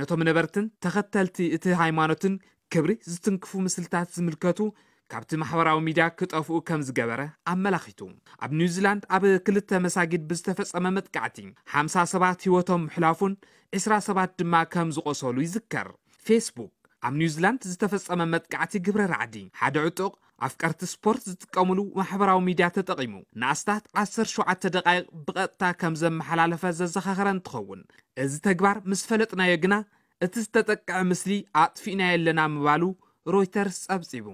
ነቶም ነበርትን ተኸተልቲ እቲ ሃይማኖትን ክብሪ ዝትንክፉ ምስልታት ዝምልከቱ ካብቲ ማሕበራዊ ሚድያ ክጠፍኡ ከም ዝገበረ ኣመላኺቱ። ኣብ ኒውዚላንድ ኣብ ክልተ መሳጊድ ብዝተፈጸመ መጥቃዕቲ ሓምሳ ሰባት ህይወቶም ምሕላፉን ዕስራ ሰባት ድማ ከም ዝቖሰሉ ይዝከር። ፌስቡክ ኣብ ኒውዚላንድ ዝተፈጸመ መጥቃዕቲ ግብረ ራዕዲ ሓደ ዕጡቕ ኣፍቀርቲ ስፖርት ዝጥቀምሉ ማሕበራዊ ሚድያ ተጠቒሙ ንኣስታት ዓሰርተ ሸውዓተ ደቓይቕ ብቐጥታ ከም ዘመሓላለፈ ዘዘኻኸረ እንትኸውን፣ እዚ ተግባር ምስ ፈለጥናዮ ግና እቲ ዝተጠቅዐ ምስሊ ኣጥፊእናዮ ኣለና ምባሉ ሮይተርስ ጸብጺቡ።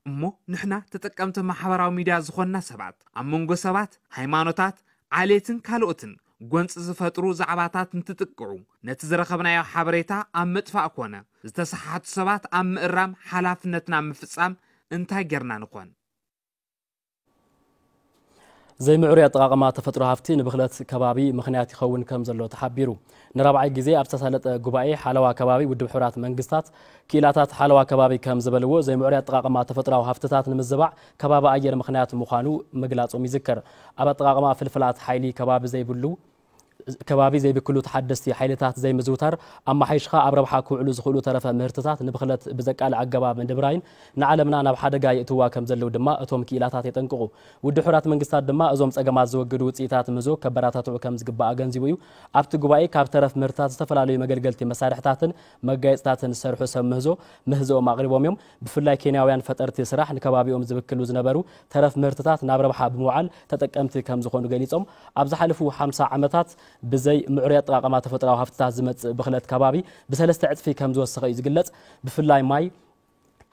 እሞ ንሕና ተጠቀምቲ ማሕበራዊ ሚድያ ዝኾንና ሰባት ኣብ መንጎ ሰባት፣ ሃይማኖታት፣ ዓሌትን ካልኦትን ጎንፂ ዝፈጥሩ ዛዕባታት እንትጥቅዑ ነቲ ዝረኸብናዮ ሓበሬታ ኣብ ምጥፋእ ኮነ ዝተሰሓቱ ሰባት ኣብ ምእራም ሓላፍነትና ምፍፃም እንታይ ጌርና ንኾን? ዘይምዕሩይ ኣጠቓቕማ ተፈጥሮ ሃፍቲ ንብኽለት ከባቢ ምኽንያት ይኸውን ከም ዘሎ ተሓቢሩ። ንራብዓይ ግዜ ኣብ ዝተሳለጠ ጉባኤ ሓለዋ ከባቢ ውድብ ሕቡራት መንግስታት ክኢላታት ሓለዋ ከባቢ ከም ዝበልዎ ዘይምዕሩይ ኣጠቓቕማ ተፈጥሮዊ ሃፍትታት ንምዝባዕ ከባቢ ኣየር ምኽንያት ምዃኑ ምግላጾም ይዝከር። ኣብ ኣጠቓቕማ ፍልፍላት ሓይሊ ከባቢ ዘይብሉ ከባቢ ዘይብክሉ ተሓደስቲ ሓይልታት ዘይምዝውታር ኣመሓይሽኻ ኣብ ረብሓ ክውዕሉ ዝኽእሉ ተረፈ ምህርትታት ንብኽለት ብዘቃልዕ ኣገባብ ምድብራይን ንዓለምና ናብ ሓደጋ የእትዋ ከም ዘለዉ ድማ እቶም ክኢላታት የጠንቅቑ። ውድብ ሕቡራት መንግስታት ድማ እዞም ጸገማት ዝወግዱ ውጽኢታት ምህዞ ከበረታትዑ ከም ዝግባእ ኣገንዚቡ እዩ። ኣብቲ ጉባኤ ካብ ተረፍ ምህርትታት ዝተፈላለዩ መገልገልቲ መሳርሕታትን መጋየጽታትን ዝሰርሑ ሰብ ምህዞ ምህዞኦም ኣቕሪቦም እዮም። ብፍላይ ኬንያውያን ፈጠርቲ ስራሕ ንከባቢኦም ዝብክሉ ዝነበሩ ተረፍ ምህርትታት ናብ ረብሓ ብምውዓል ተጠቀምቲ ከም ዝኾኑ ገሊጾም፣ ኣብ ዝሓለፉ ሓምሳ ዓመታት ብዘይ ምዕሩይ ኣጠቓቕማ ተፈጥሮኣዊ ሃፍትታት ዝመጽእ ብኽለት ከባቢ ብሰለስተ ዕጽፊ ከም ዝወሰኸ እዩ ዝግለጽ። ብፍላይ ማይ፣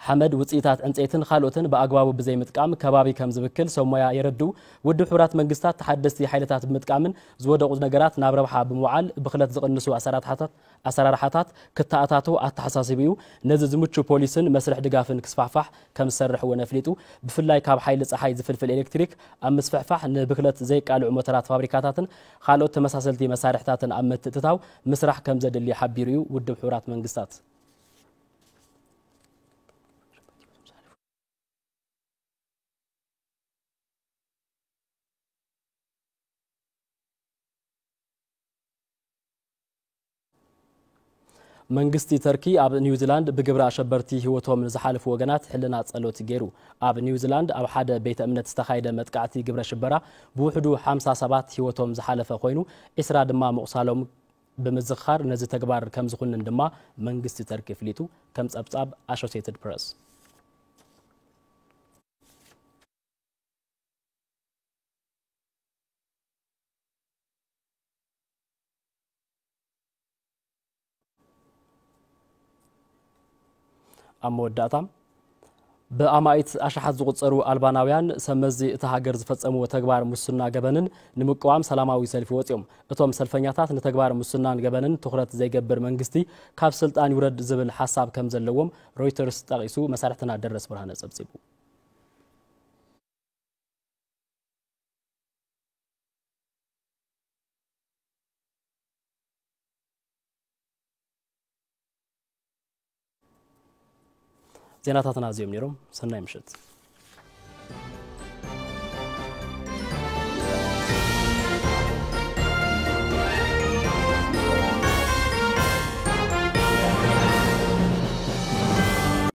ሓመድ፣ ውጽኢታት ዕንጸይትን ካልኦትን ብኣግባቡ ብዘይምጥቃም ከባቢ ከም ዝብክል ሰብ ሞያ የረድኡ። ውድብ ሕቡራት መንግስታት ተሓደስቲ ሓይልታት ብምጥቃምን ዝወደቑ ነገራት ናብ ረብሓ ብምውዓል ብኽለት ዝቕንሱ ኣሰራርሓታት ኣሰራርሓታት ክተኣታቶ ኣተሓሳሲቡ እዩ። ነዚ ዝምቹ ፖሊስን መስርሕ ድጋፍን ክስፋሕፋሕ ከም ዝሰርሕ እውን ኣፍሊጡ። ብፍላይ ካብ ሓይሊ ጸሓይ ዝፍልፍል ኤሌክትሪክ ኣብ ምስፍሕፋሕ ንብክለት ዘይቃልዑ ሞተራት ፋብሪካታትን ካልኦት ተመሳሰልቲ መሳርሕታትን ኣብ ምትእትታው ምስራሕ ከም ዘድሊ ሓቢሩ እዩ ውድብ ሕቡራት መንግስታት። መንግስቲ ተርኪ ኣብ ኒውዚላንድ ብግብረ ኣሸበርቲ ህይወቶም ንዝሓለፉ ወገናት ሕልና ጸሎት ገይሩ። ኣብ ኒውዚላንድ ኣብ ሓደ ቤተ እምነት ዝተኻየደ መጥቃዕቲ ግብረ ሽበራ ብውሕዱ ሓምሳ ሰባት ህይወቶም ዝሓለፈ ኮይኑ ዒስራ ድማ ምቑሳሎም ብምዝኻር ነዚ ተግባር ከም ዝኹንን ድማ መንግስቲ ተርኪ ኣፍሊጡ። ከም ጸብጻብ ኣሶሲየትድ ፕረስ። ኣብ መወዳእታ፣ ብኣማኢት ኣሽሓት ዝቑጸሩ ኣልባናውያን ሰብ መዚ እታ ሃገር ዝፈጸምዎ ተግባር ሙስና ገበንን ንምቅዋም ሰላማዊ ሰልፊ ወጺኦም። እቶም ሰልፈኛታት ንተግባር ሙስናን ገበንን ትኹረት ዘይገብር መንግስቲ ካብ ስልጣን ይውረድ ዝብል ሓሳብ ከም ዘለዎም ሮይተርስ ጠቒሱ መሳርሕትና ደረስ ብርሃነ ጸብጺቡ። ዜናታትና እዚኦም ነይሮም። ሰናይ ምሽት።